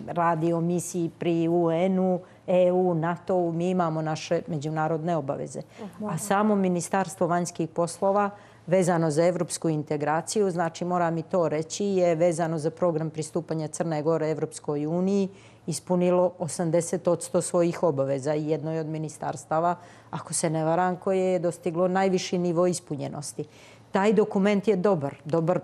radi o misiji pri U N-u, E U, NATO-u, mi imamo naše međunarodne obaveze. A samo Ministarstvo vanjskih poslova vezano za evropsku integraciju, znači moram i to reći, je vezano za program pristupanja Crne Gore Evropskoj uniji ispunilo osamdeset posto svojih obaveza i jedno je od ministarstava, ako se ne varam, koje je dostiglo najviši nivo ispunjenosti. Taj dokument je dobar, dobar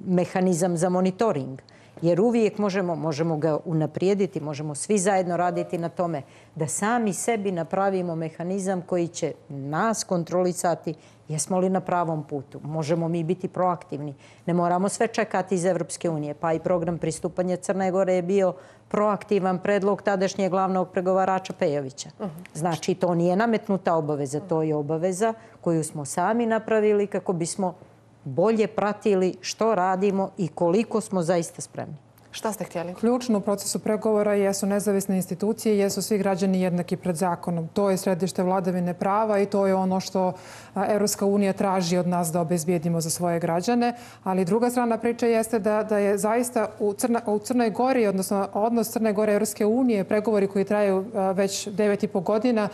mehanizam za monitoring, jer uvijek možemo, možemo ga unaprijediti, možemo svi zajedno raditi na tome da sami sebi napravimo mehanizam koji će nas kontrolisati jesmo li na pravom putu. Možemo mi biti proaktivni. Ne moramo sve čekati iz Evropske unije. Pa i program pristupanja Crne Gore je bio proaktivan predlog tadašnjeg glavnog pregovarača Pejovića. Znači, to nije nametnuta obaveza. To je obaveza koju smo sami napravili kako bismo bolje pratili što radimo i koliko smo zaista spremni. Šta ste htjeli? Ključno u procesu pregovora jesu nezavisne institucije, jesu svi građani jednaki pred zakonom. To je središte vladavine prava i to je ono što Evropska unija traži od nas da obezbijedimo za svoje građane. Ali druga strana priče jeste da, da je zaista u, Crna, u Crnoj Gori, odnosno odnos Crne Gore i Evropske unije, pregovori koji traju već devet i po godina,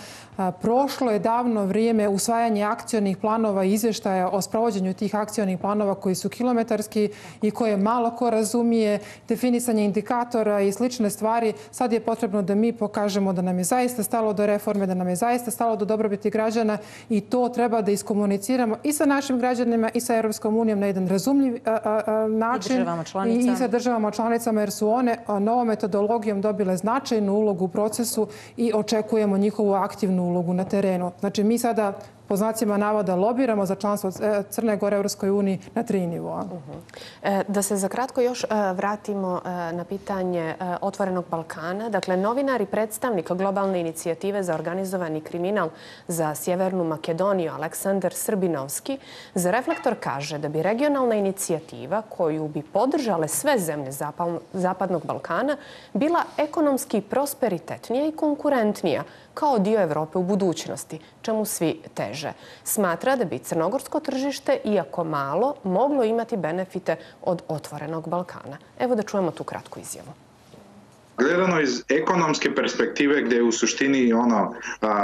prošlo je davno vrijeme usvajanja akcionih planova i izvještaja o sprovođenju tih akcionih planova koji su kilometarski i koje malo ko razumije, definisanje indikatora i slične stvari. Sad je potrebno da mi pokažemo da nam je zaista stalo do reforme, da nam je zaista stalo do dobrobiti građana i to treba da iskomuniciramo i sa našim građanima i sa Evropskom unijom na jedan razumljiv a, a, način i, i sa državama članicama, jer su one novom metodologijom dobile značajnu ulogu u procesu i očekujemo njihovu aktivnu ulogu na terenu. Znači, mi sada po znacima navoda lobiramo za članstvo Crne Gore u Evropskoj uniji na tri nivoa. Da se za kratko još vratimo na pitanje Otvorenog Balkana. Dakle, novinar i predstavnik globalne inicijative za organizovani kriminal za Sjevernu Makedoniju Aleksandar Srbinovski za Reflektor kaže da bi regionalna inicijativa koju bi podržale sve zemlje Zapadnog Balkana bila ekonomski prosperitetnija i konkurentnija kao dio Evrope u budućnosti, čemu svi teže. Smatra da bi crnogorsko tržište, iako malo, moglo imati benefite od Otvorenog Balkana. Evo da čujemo tu kratku izjavu. Gledano iz ekonomske perspektive, gdje je u suštini ono a, a,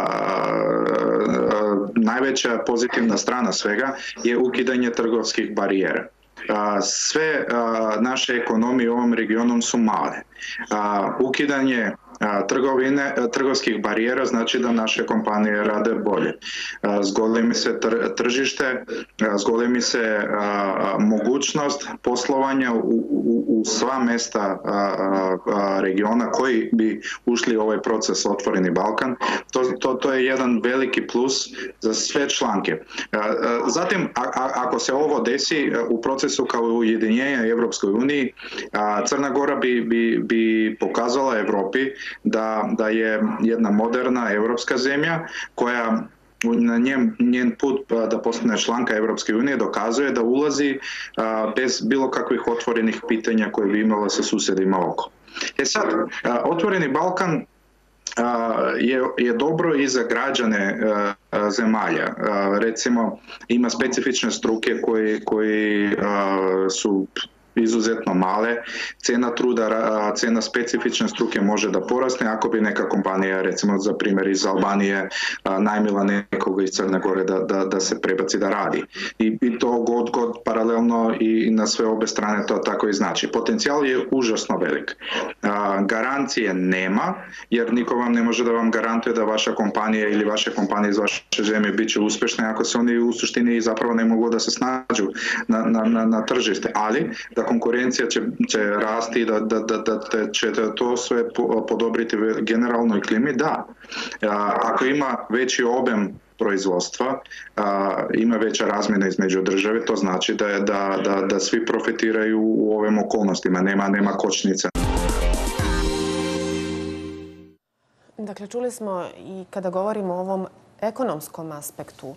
najveća pozitivna strana svega je ukidanje trgovskih barijera. A, sve a, naše ekonomije u ovom regionu su male. A, ukidanje trgovine, trgovskih barijera znači da naše kompanije rade bolje. Zgolimi se tržište, zgolimi se mogućnost poslovanja u, u, u sva mesta regiona koji bi ušli u ovaj proces Otvoreni Balkan. To, to, to je jedan veliki plus za sve članke. Zatim, a, ako se ovo desi u procesu kao ujedinjenja Evropskoj uniji, Crna Gora bi, bi, bi pokazala Evropi Da, da je jedna moderna evropska zemlja koja na njen, njen put da postane članka Evropske unije dokazuje da ulazi a, bez bilo kakvih otvorenih pitanja koje bi imala sa susjedima oko. E sad, a, Otvoreni Balkan a, je, je dobro i za građane a, a, zemalja. A, recimo, ima specifične struke koji, koji a, su izuzetno male. Cena truda, cena specifične struke može da porasne ako bi neka kompanija, recimo za primjer iz Albanije, najmila nekoga iz Crne Gore da, da, da se prebaci da radi. I, i to god, god paralelno i na sve obe strane to tako i znači. Potencijal je užasno velik. Garancije nema, jer niko vam ne može da vam garantuje da vaša kompanija ili vaše kompanije iz vaše zemlje bit će uspješne ako se oni u suštini zapravo ne mogu da se snađu na, na, na, na tržište. Ali da konkurencija će, će rasti, da, da, da, da će to sve podobriti generalnoj klimi, da. Ako ima veći objem proizvodstva, ima veća razmjena između države, to znači da, da, da, da svi profitiraju u ovim okolnostima, nema, nema kočnica. Dakle, čuli smo i kada govorimo o ovom ekonomskom aspektu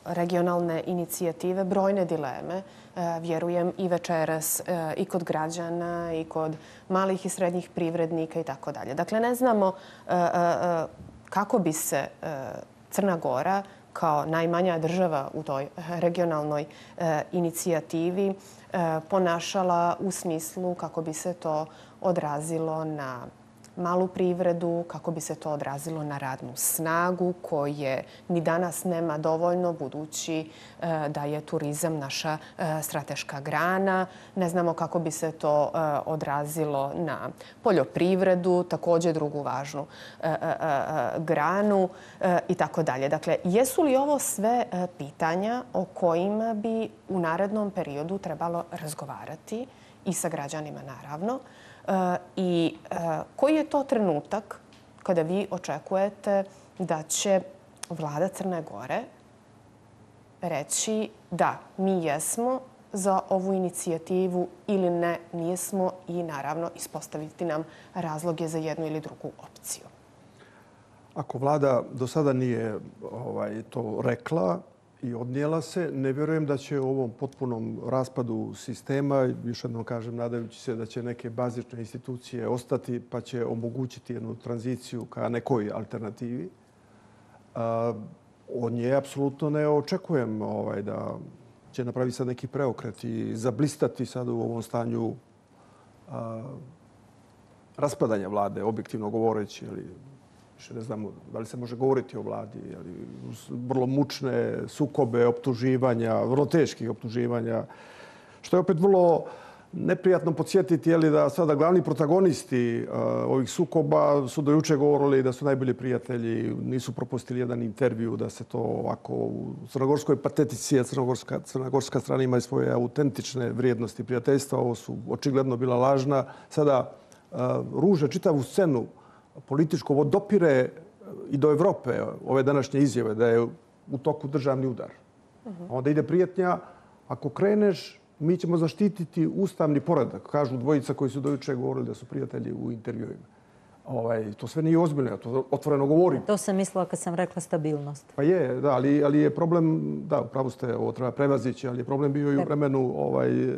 regionalne inicijative, brojne dileme, vjerujem i večeras i kod građana i kod malih i srednjih privrednika i tako dalje. Dakle, ne znamo kako bi se Crna Gora kao najmanja država u toj regionalnoj inicijativi ponašala u smislu kako bi se to odrazilo na malu privredu, kako bi se to odrazilo na radnu snagu koje ni danas nema dovoljno, budući da je turizam naša strateška grana. Ne znamo kako bi se to odrazilo na poljoprivredu, također drugu važnu granu i tako dalje. Dakle, jesu li ovo sve pitanja o kojima bi u narednom periodu trebalo razgovarati i sa građanima, naravno? I koji je to trenutak kada vi očekujete da će vlada Crne Gore reći da, mi jesmo za ovu inicijativu ili ne, nismo, i naravno ispostaviti nam razloge za jednu ili drugu opciju? Ako vlada do sada nije ovaj, to rekla i odnijela se, ne vjerujem da će u ovom potpunom raspadu sistema, još jednom kažem, nadajući se da će neke bazične institucije ostati pa će omogućiti jednu tranziciju ka nekoj alternativi. Od nje apsolutno ne očekujem ovaj, da će napraviti sad neki preokret i zablistati sad u ovom stanju a, raspadanja vlade, objektivno govoreći, ali ne znamo da li se može govoriti o vladi, ali vrlo mučne sukobe, optuživanja, vrlo teških optuživanja, što je opet vrlo neprijatno podsjetiti je li da sada glavni protagonisti uh, ovih sukoba su do juče govorili da su najbolji prijatelji, nisu propustili jedan intervju, da se to ovako u crnogorskoj patetici, a crnogorska, crnogorska strana ima svoje autentične vrijednosti prijateljstva, ovo su očigledno bila lažna. Sada uh, ruže čitavu scenu političko vodopire i do Evrope ove današnje izjave da je u toku državni udar. Uh-huh. Onda ide prijetnja, ako kreneš, mi ćemo zaštititi ustavni poredak, kažu dvojica koji su dojuče govorili da su prijatelji u intervjuima. Ovaj, to sve nije ozbiljno, ja to otvoreno govorim. To sam mislila kad sam rekla stabilnost. Pa je, da, ali, ali je problem, da, upravo ste, ovo treba prevazići, ali je problem bio i u vremenu ovaj,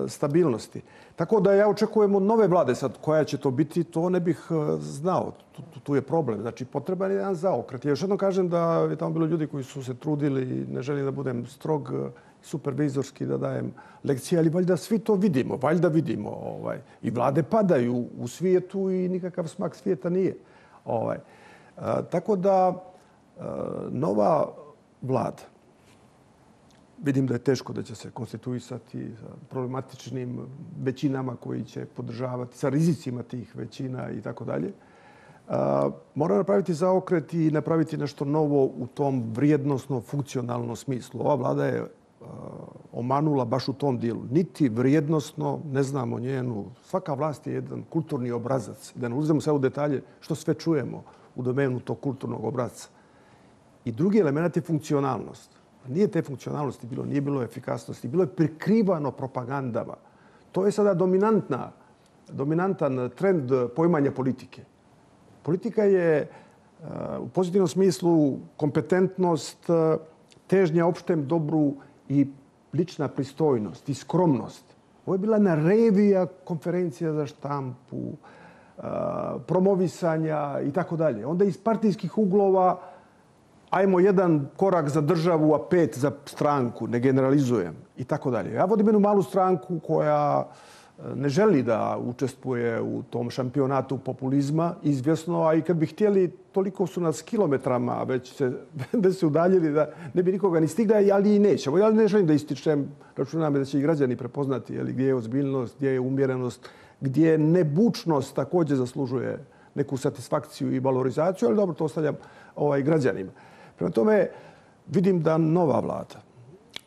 stabilnosti. Tako da ja očekujem od nove vlade sad koja će to biti, to ne bih znao. Tu, tu, tu je problem. Znači, potreban je jedan zaokret. Ja još jednom kažem da je tamo bilo ljudi koji su se trudili, ne želim da budem strog, supervizorski, da dajem lekcije, ali valjda svi to vidimo, valjda vidimo. Ovaj. I vlade padaju u svijetu i nikakav smak svijeta nije. Ovaj. A, tako da a, nova vlada, vidim da je teško da će se konstituisati sa problematičnim većinama koji će podržavati, sa rizicima tih većina i tako dalje. Mora napraviti zaokret i napraviti nešto novo u tom vrijednosno, funkcionalnom smislu. Ova vlada je uh, omanula baš u tom dijelu. Niti vrijednosno, ne znamo njenu. Svaka vlast je jedan kulturni obrazac. Da ne uzmemo sve u detalje što sve čujemo u domenu tog kulturnog obrazca. I drugi element je funkcionalnost. Nije te funkcionalnosti bilo, nije bilo efikasnosti. Bilo je prikrivano propagandama. To je sada dominantna, dominantan trend poimanja politike. Politika je u pozitivnom smislu kompetentnost, težnja opštem dobru i lična pristojnost i skromnost. Ovo je bila narevija konferencija za štampu, promovisanja i tako dalje. Onda iz partijskih uglova ajmo jedan korak za državu, a pet za stranku, ne generalizujem i tako dalje. Ja vodim jednu malu stranku koja ne želi da učestvuje u tom šampionatu populizma, izvjesno, a i kad bi htjeli, toliko su nas kilometrama već se, već se udaljili da ne bi nikoga ni stigla, ali i nećemo. Ja ne želim da ističem, računam da će i građani prepoznati jeli, gdje je ozbiljnost, gdje je umjerenost, gdje nebučnost također zaslužuje neku satisfakciju i valorizaciju, ali dobro, to ostavljam ovaj, građanima. Prema tome, vidim da nova vlada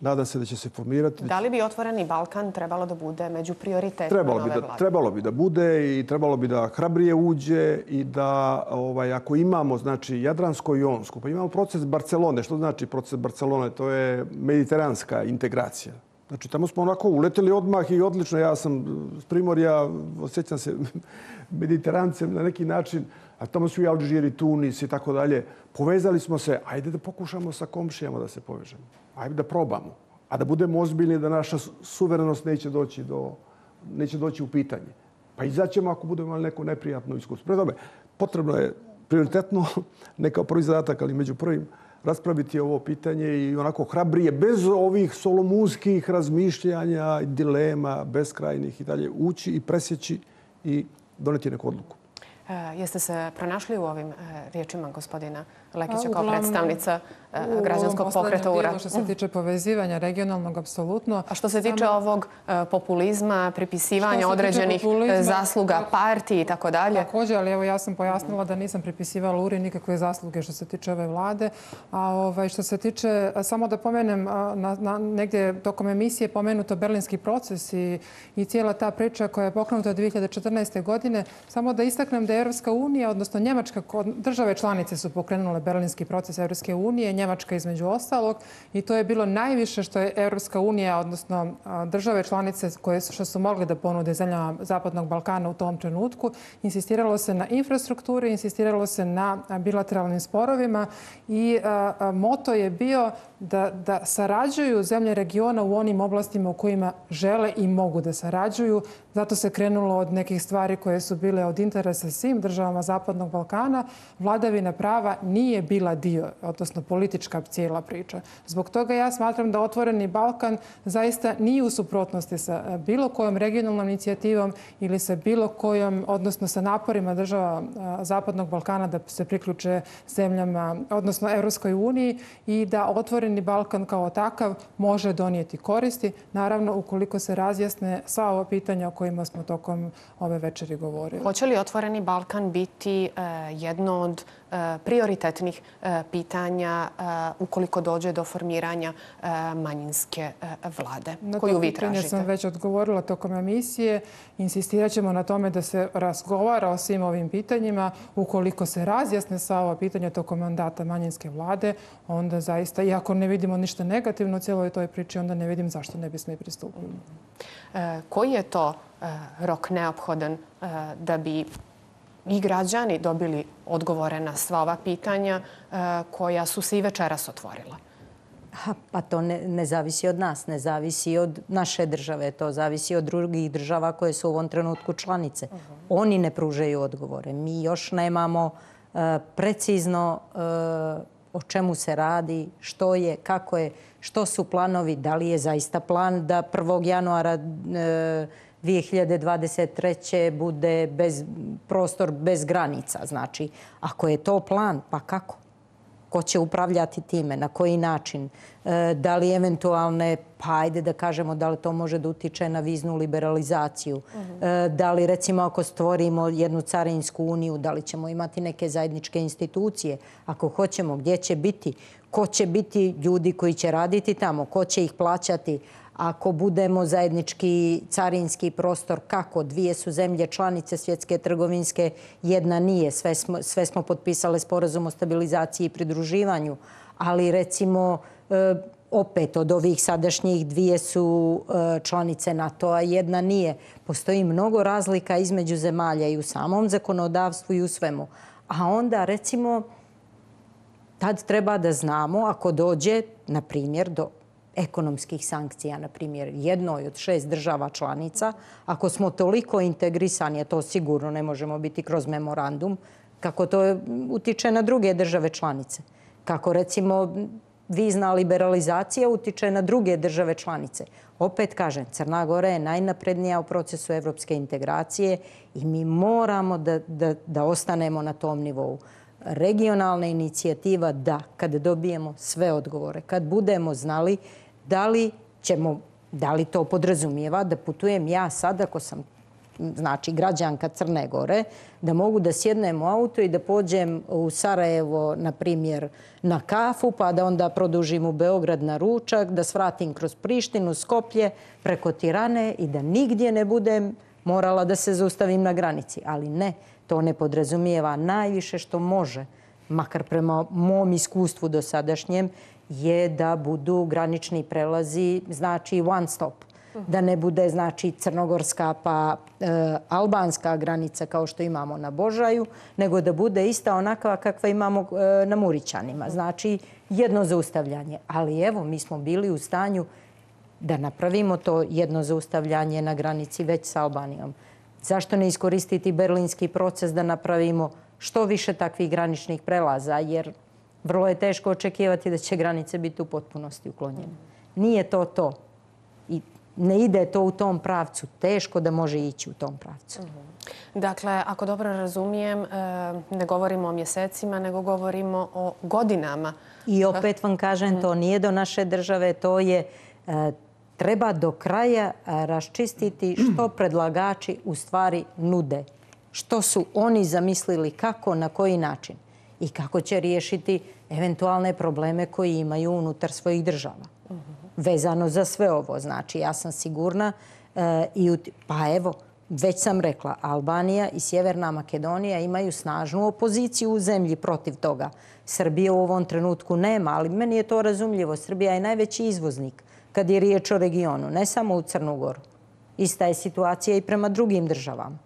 Nadam se da će se formirati. Da li bi Otvoreni Balkan trebalo da bude među prioritetima trebalo nove bi vlade? Da, trebalo bi da bude i trebalo bi da hrabrije uđe i da ovaj, ako imamo znači, Jadransko i Jonsko, pa imamo proces Barcelone. Što znači proces Barcelone? To je mediteranska integracija. Znači, tamo smo onako uleteli odmah i odlično. Ja sam s Primorja, osjećam se mediterancem na neki način, a tamo su i Alžiri, Tunis i tako dalje. Povezali smo se, ajde da pokušamo sa komšijama da se povežemo. Ajde da probamo. A da budemo ozbiljni da naša suverenost neće doći, do, neće doći u pitanje. Pa izaćemo ako budemo imali neko neprijatno iskustvo. Pre tome, potrebno je prioritetno, ne kao prvi zadatak, ali među prvim, raspraviti ovo pitanje i onako hrabrije, bez ovih solomunskih razmišljanja, dilema, beskrajnih i dalje, ući i presjeći i doneti neku odluku. Jeste se pronašli u ovim riječima gospodina Lekića kao predstavnica građanskog pokreta U R A? Što se tiče povezivanja regionalnog, apsolutno. A što se tiče ovog populizma, pripisivanja određenih zasluga partiji i tako dalje? Također, ali evo ja sam pojasnila da nisam pripisivala U R I nikakve zasluge što se tiče ove vlade. A što se tiče, samo da pomenem, negdje tokom emisije pomenuto Berlinski proces i cijela ta priča koja je pokrenuta dvije hiljade četrnaeste. godine, samo da istaknem da je Europska unija, odnosno Njemačka, države članice su pokrenule Berlinski proces Europske unije, Njemačka između ostalog, i to je bilo najviše što je Europska unija, odnosno države članice koje što su mogli da ponude zemljama Zapadnog Balkana u tom trenutku. Insistiralo se na infrastrukturi, insistiralo se na bilateralnim sporovima i moto je bio da, da sarađuju zemlje regiona u onim oblastima u kojima žele i mogu da sarađuju. Zato se krenulo od nekih stvari koje su bile od interesa svim državama Zapadnog Balkana. Vladavina prava nije bila dio, odnosno politička cijela priča. Zbog toga ja smatram da Otvoreni Balkan zaista nije u suprotnosti sa bilo kojom regionalnom inicijativom ili sa bilo kojom, odnosno sa naporima država Zapadnog Balkana da se priključe zemljama, odnosno Europskoj uniji, i da Otvoreni Balkan kao takav može donijeti koristi, naravno ukoliko se razjasne sva ova pitanja o kojima smo tokom ove večeri govorili. Hoće li Otvoreni Balkan biti jedno od prioritetnih pitanja ukoliko dođe do formiranja manjinske vlade koju vi tražite? Na to pitanje sam već odgovorila tokom emisije. Insistirat ćemo na tome da se razgovara o svim ovim pitanjima. Ukoliko se razjasne sva ova pitanja tokom mandata manjinske vlade, onda zaista, iako ne vidimo ništa negativno u cijeloj toj priči, onda ne vidim zašto ne bismo i pristupili. Koji je to rok neophodan da bi i građani dobili odgovore na sva ova pitanja koja su se i večeras otvorila? Pa to ne, ne zavisi od nas, ne zavisi od naše države, to zavisi od drugih država koje su u ovom trenutku članice. Uh-huh. Oni ne pružaju odgovore. Mi još nemamo uh, precizno uh, o čemu se radi, što je, kako je, što su planovi, da li je zaista plan da prvog januara uh, dvije hiljade dvadeset treće. bude bez, prostor bez granica. Znači, ako je to plan, pa kako? Ko će upravljati time? Na koji način? E, da li eventualne, pa ajde da kažemo da li to može da utiče na viznu liberalizaciju? Uh-huh. E, da li recimo ako stvorimo jednu carinsku uniju, da li ćemo imati neke zajedničke institucije? Ako hoćemo, gdje će biti? Ko će biti ljudi koji će raditi tamo? Ko će ih plaćati? Ako budemo zajednički carinski prostor, kako? Dvije su zemlje članice Svjetske trgovinske, jedna nije. Sve smo, sve smo potpisale sporazum o stabilizaciji i pridruživanju. Ali recimo, opet od ovih sadašnjih dvije su članice NATO-a, jedna nije. Postoji mnogo razlika između zemalja i u samom zakonodavstvu i u svemu. A onda recimo, tad treba da znamo ako dođe, na primjer, do ekonomskih sankcija, na primjer, jednoj od šest država članica, ako smo toliko integrisani, a to sigurno ne možemo biti kroz memorandum, kako to utiče na druge države članice. Kako, recimo, vizna liberalizacija utiče na druge države članice. Opet kažem, Crna Gora je najnaprednija u procesu evropske integracije i mi moramo da, da, da ostanemo na tom nivou. Regionalna inicijativa, da, kad dobijemo sve odgovore, kad budemo znali da li ćemo, da li to podrazumijeva da putujem ja sad, ako sam znači građanka Crne Gore, da mogu da sjednem u auto i da pođem u Sarajevo, na primjer, na kafu, pa da onda produžim u Beograd na ručak, da svratim kroz Prištinu, Skoplje, preko Tirane i da nigdje ne budem morala da se zaustavim na granici. Ali ne, to ne podrazumijeva. Najviše što može, makar prema mom iskustvu dosadašnjem, je da budu granični prelazi, znači one stop. Da ne bude, znači, crnogorska pa e, albanska granica kao što imamo na Božaju, nego da bude ista onakva kakva imamo e, na Murićanima. Znači, jedno zaustavljanje. Ali evo, mi smo bili u stanju da napravimo to jedno zaustavljanje na granici već sa Albanijom. Zašto ne iskoristiti berlinski proces da napravimo što više takvih graničnih prelaza, jer vrlo je teško očekivati da će granice biti u potpunosti uklonjene. Nije to to. I ne ide to u tom pravcu. Teško da može ići u tom pravcu. Dakle, ako dobro razumijem, ne govorimo o mjesecima, nego govorimo o godinama. I opet vam kažem, to nije do naše države, to je treba do kraja raščistiti što predlagači u stvari nude. Što su oni zamislili, kako, na koji način i kako će riješiti eventualne probleme koji imaju unutar svojih država. Vezano za sve ovo. Znači, ja sam sigurna, e, i ut... pa evo, već sam rekla, Albanija i Sjeverna Makedonija imaju snažnu opoziciju u zemlji protiv toga. Srbije u ovom trenutku nema, ali meni je to razumljivo. Srbija je najveći izvoznik kad je riječ o regionu, ne samo u Crnu Goru. Ista je situacija i prema drugim državama.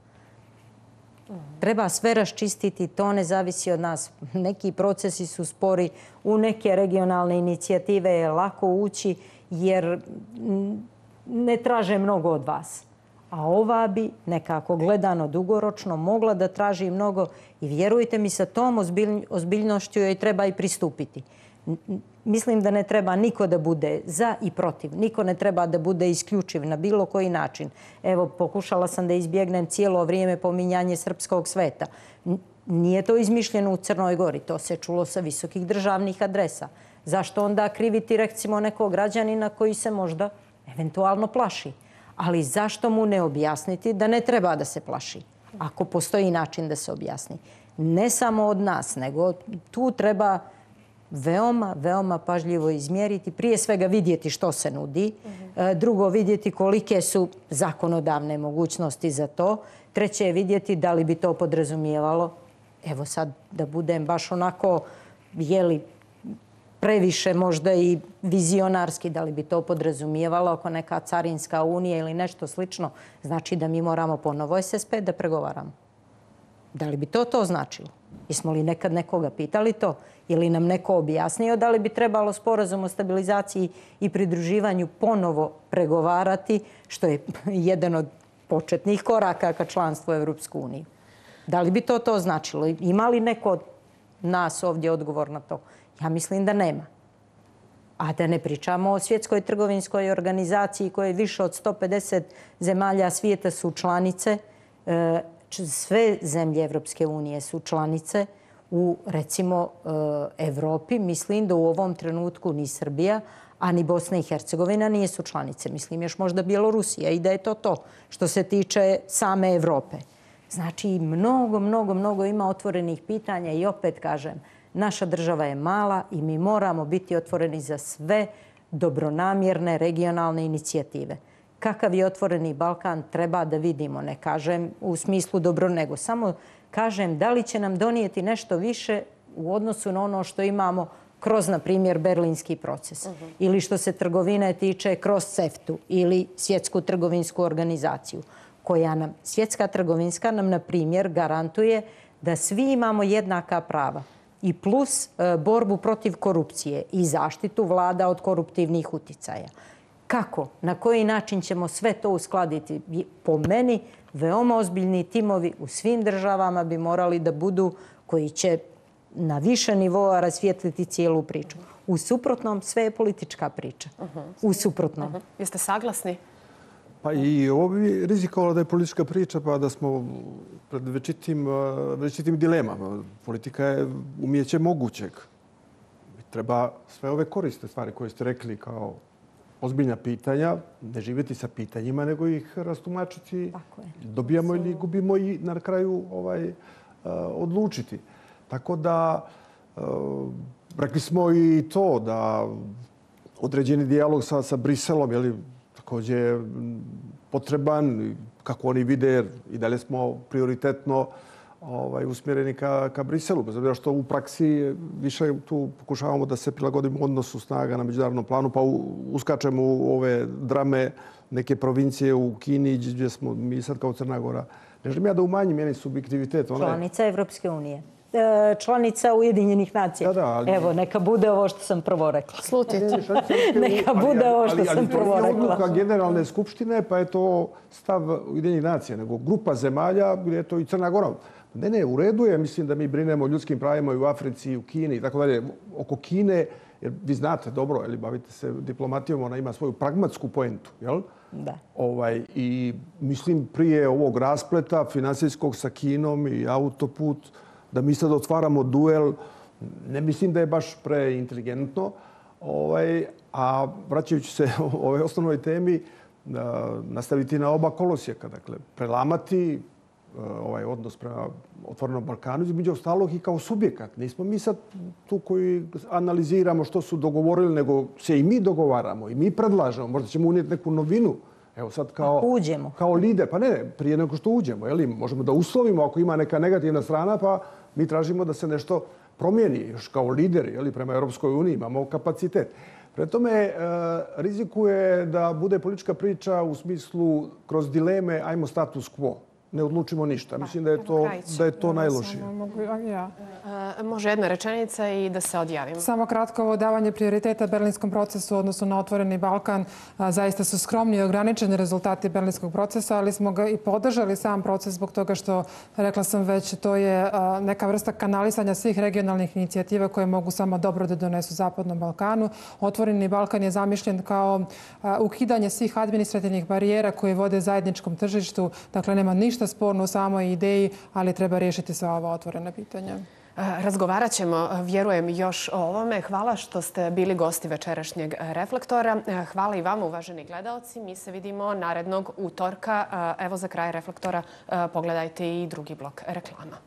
Treba sve raščistiti, to ne zavisi od nas. Neki procesi su spori, u neke regionalne inicijative je lako ući jer ne traže mnogo od vas. A ova bi nekako gledano dugoročno mogla da traži mnogo i vjerujte mi, sa tom ozbiljnošću joj treba i pristupiti. Mislim da ne treba niko da bude za i protiv. Niko ne treba da bude isključiv na bilo koji način. Evo, pokušala sam da izbjegnem cijelo vrijeme pominjanje srpskog sveta. Nije to izmišljeno u Crnoj Gori. To se čulo sa visokih državnih adresa. Zašto onda kriviti, recimo, nekog građanina koji se možda eventualno plaši? Ali zašto mu ne objasniti da ne treba da se plaši? Ako postoji način da se objasni. Ne samo od nas, nego tu treba veoma, veoma pažljivo izmjeriti. Prije svega vidjeti što se nudi. Drugo, vidjeti kolike su zakonodavne mogućnosti za to. Treće je vidjeti da li bi to podrazumijevalo. Evo sad da budem baš onako, jeli, previše možda i vizionarski, da li bi to podrazumijevalo oko neka carinska unija ili nešto slično. Znači da mi moramo ponovo S S P da pregovaramo. Da li bi to to značilo? Jesmo li nekad nekoga pitali to? Ili nam neko objasnio da li bi trebalo sporazum o stabilizaciji i pridruživanju ponovo pregovarati, što je jedan od početnih koraka ka članstvu u Europsku uniju? Da li bi to to značilo? Ima li neko od nas ovdje odgovor na to? Ja mislim da nema. A da ne pričamo o Svjetskoj trgovinskoj organizaciji koje više od sto pedeset zemalja svijeta su članice. Sve zemlje Evropske unije su članice. U, recimo, Evropi, mislim da u ovom trenutku ni Srbija, a ni Bosna i Hercegovina nisu članice. Mislim još možda Bjelorusija i da je to to što se tiče same Evrope. Znači, mnogo, mnogo, mnogo ima otvorenih pitanja i opet kažem, naša država je mala i mi moramo biti otvoreni za sve dobronamjerne regionalne inicijative. Kakav je otvoreni Balkan treba da vidimo, ne kažem u smislu dobro, nego samo kažem da li će nam donijeti nešto više u odnosu na ono što imamo kroz, na primjer, berlinski proces. Uh-huh. Ili što se trgovine tiče kroz CEFTA-u ili Svjetsku trgovinsku organizaciju, koja nam, Svjetska trgovinska nam, na primjer, garantuje da svi imamo jednaka prava i plus e, borbu protiv korupcije i zaštitu vlada od koruptivnih uticaja. Kako? Na koji način ćemo sve to uskladiti? Po meni, veoma ozbiljni timovi u svim državama bi morali da budu koji će na više nivoa rasvijetliti cijelu priču. U suprotnom, sve je politička priča. U suprotnom. Uh-huh. Jeste saglasni? Pa i ovo bi rizikovalo da je politička priča, pa da smo pred večitim, večitim dilemama. Politika je umjeće mogućeg. Treba sve ove koriste stvari koje ste rekli kao ozbiljna pitanja, ne živjeti sa pitanjima, nego ih rastumačiti. Dobijamo ili gubimo i na kraju ovaj, odlučiti. Tako da, rekli smo i to da određeni dijalog sa, sa Briselom je također potreban, kako oni vide, i dalje smo prioritetno ovaj, usmjereni ka, ka Briselu. Bez obzira što u praksi više tu pokušavamo da se prilagodimo odnosu snaga na međunarodnom planu, pa uskačemo u ove drame neke provincije u Kini, gdje smo mi sad kao Crna Gora. Ne želim ja da umanjim njeni subjektivitet. Ona članica Evropske unije. Članica Ujedinjenih nacija. Da, da, ali... Evo, neka bude ovo što sam prvo rekla. Slutite. Neka bude ovo što sam prvo rekla. Ali to je odluka Generalne skupštine, pa je to stav Ujedinjenih nacija, nego grupa zemalja gdje je to i Crna Gora. Ne, ne, u redu je. Mislim da mi brinemo o ljudskim pravima i u Africi, i u Kini i tako dalje. Oko Kine, jer vi znate dobro, jel, bavite se diplomatijom, ona ima svoju pragmatsku poentu, jel? Da. Ovaj, i mislim prije ovog raspleta finansijskog sa Kinom i autoput, da mi sad otvaramo duel, ne mislim da je baš preinteligentno. Ovaj, a vraćajući se o ovoj osnovnoj temi, nastaviti na oba kolosijeka, dakle, prelamati ovaj odnos prema Otvorenom Balkanu, između ostalog i kao subjekat. Nismo mi sad tu koji analiziramo što su dogovorili, nego se i mi dogovaramo i mi predlažemo. Možda ćemo unijeti neku novinu. Evo sad kao, uđemo. Kao lider. Pa ne, prije nego što uđemo. Jeli? Možemo da uslovimo ako ima neka negativna strana, pa mi tražimo da se nešto promijeni. Još kao lideri, jeli, prema Europskoj uniji imamo kapacitet. Pre tome, rizikuje da bude politička priča u smislu kroz dileme ajmo status quo. Ne odlučimo ništa. Mislim da je to, da je to najlošije. Može jedna rečenica i da se odjavimo. Samo kratko, ovo davanje prioriteta berlinskom procesu u odnosu na Otvoreni Balkan. Zaista su skromni i ograničeni rezultati berlinskog procesa, ali smo ga i podržali sam proces zbog toga što, rekla sam već, to je neka vrsta kanalisanja svih regionalnih inicijativa koje mogu samo dobro da donesu Zapadnom Balkanu. Otvoreni Balkan je zamišljen kao ukidanje svih administrativnih barijera koje vode zajedničkom tržištu. Dakle, nema ništa sporno u samoj ideji, ali treba riješiti sva ova otvorena pitanja. Razgovarat ćemo, vjerujem, još o ovome. Hvala što ste bili gosti večerašnjeg Reflektora. Hvala i vama, uvaženi gledalci. Mi se vidimo narednog utorka. Evo za kraj Reflektora pogledajte i drugi blok reklama.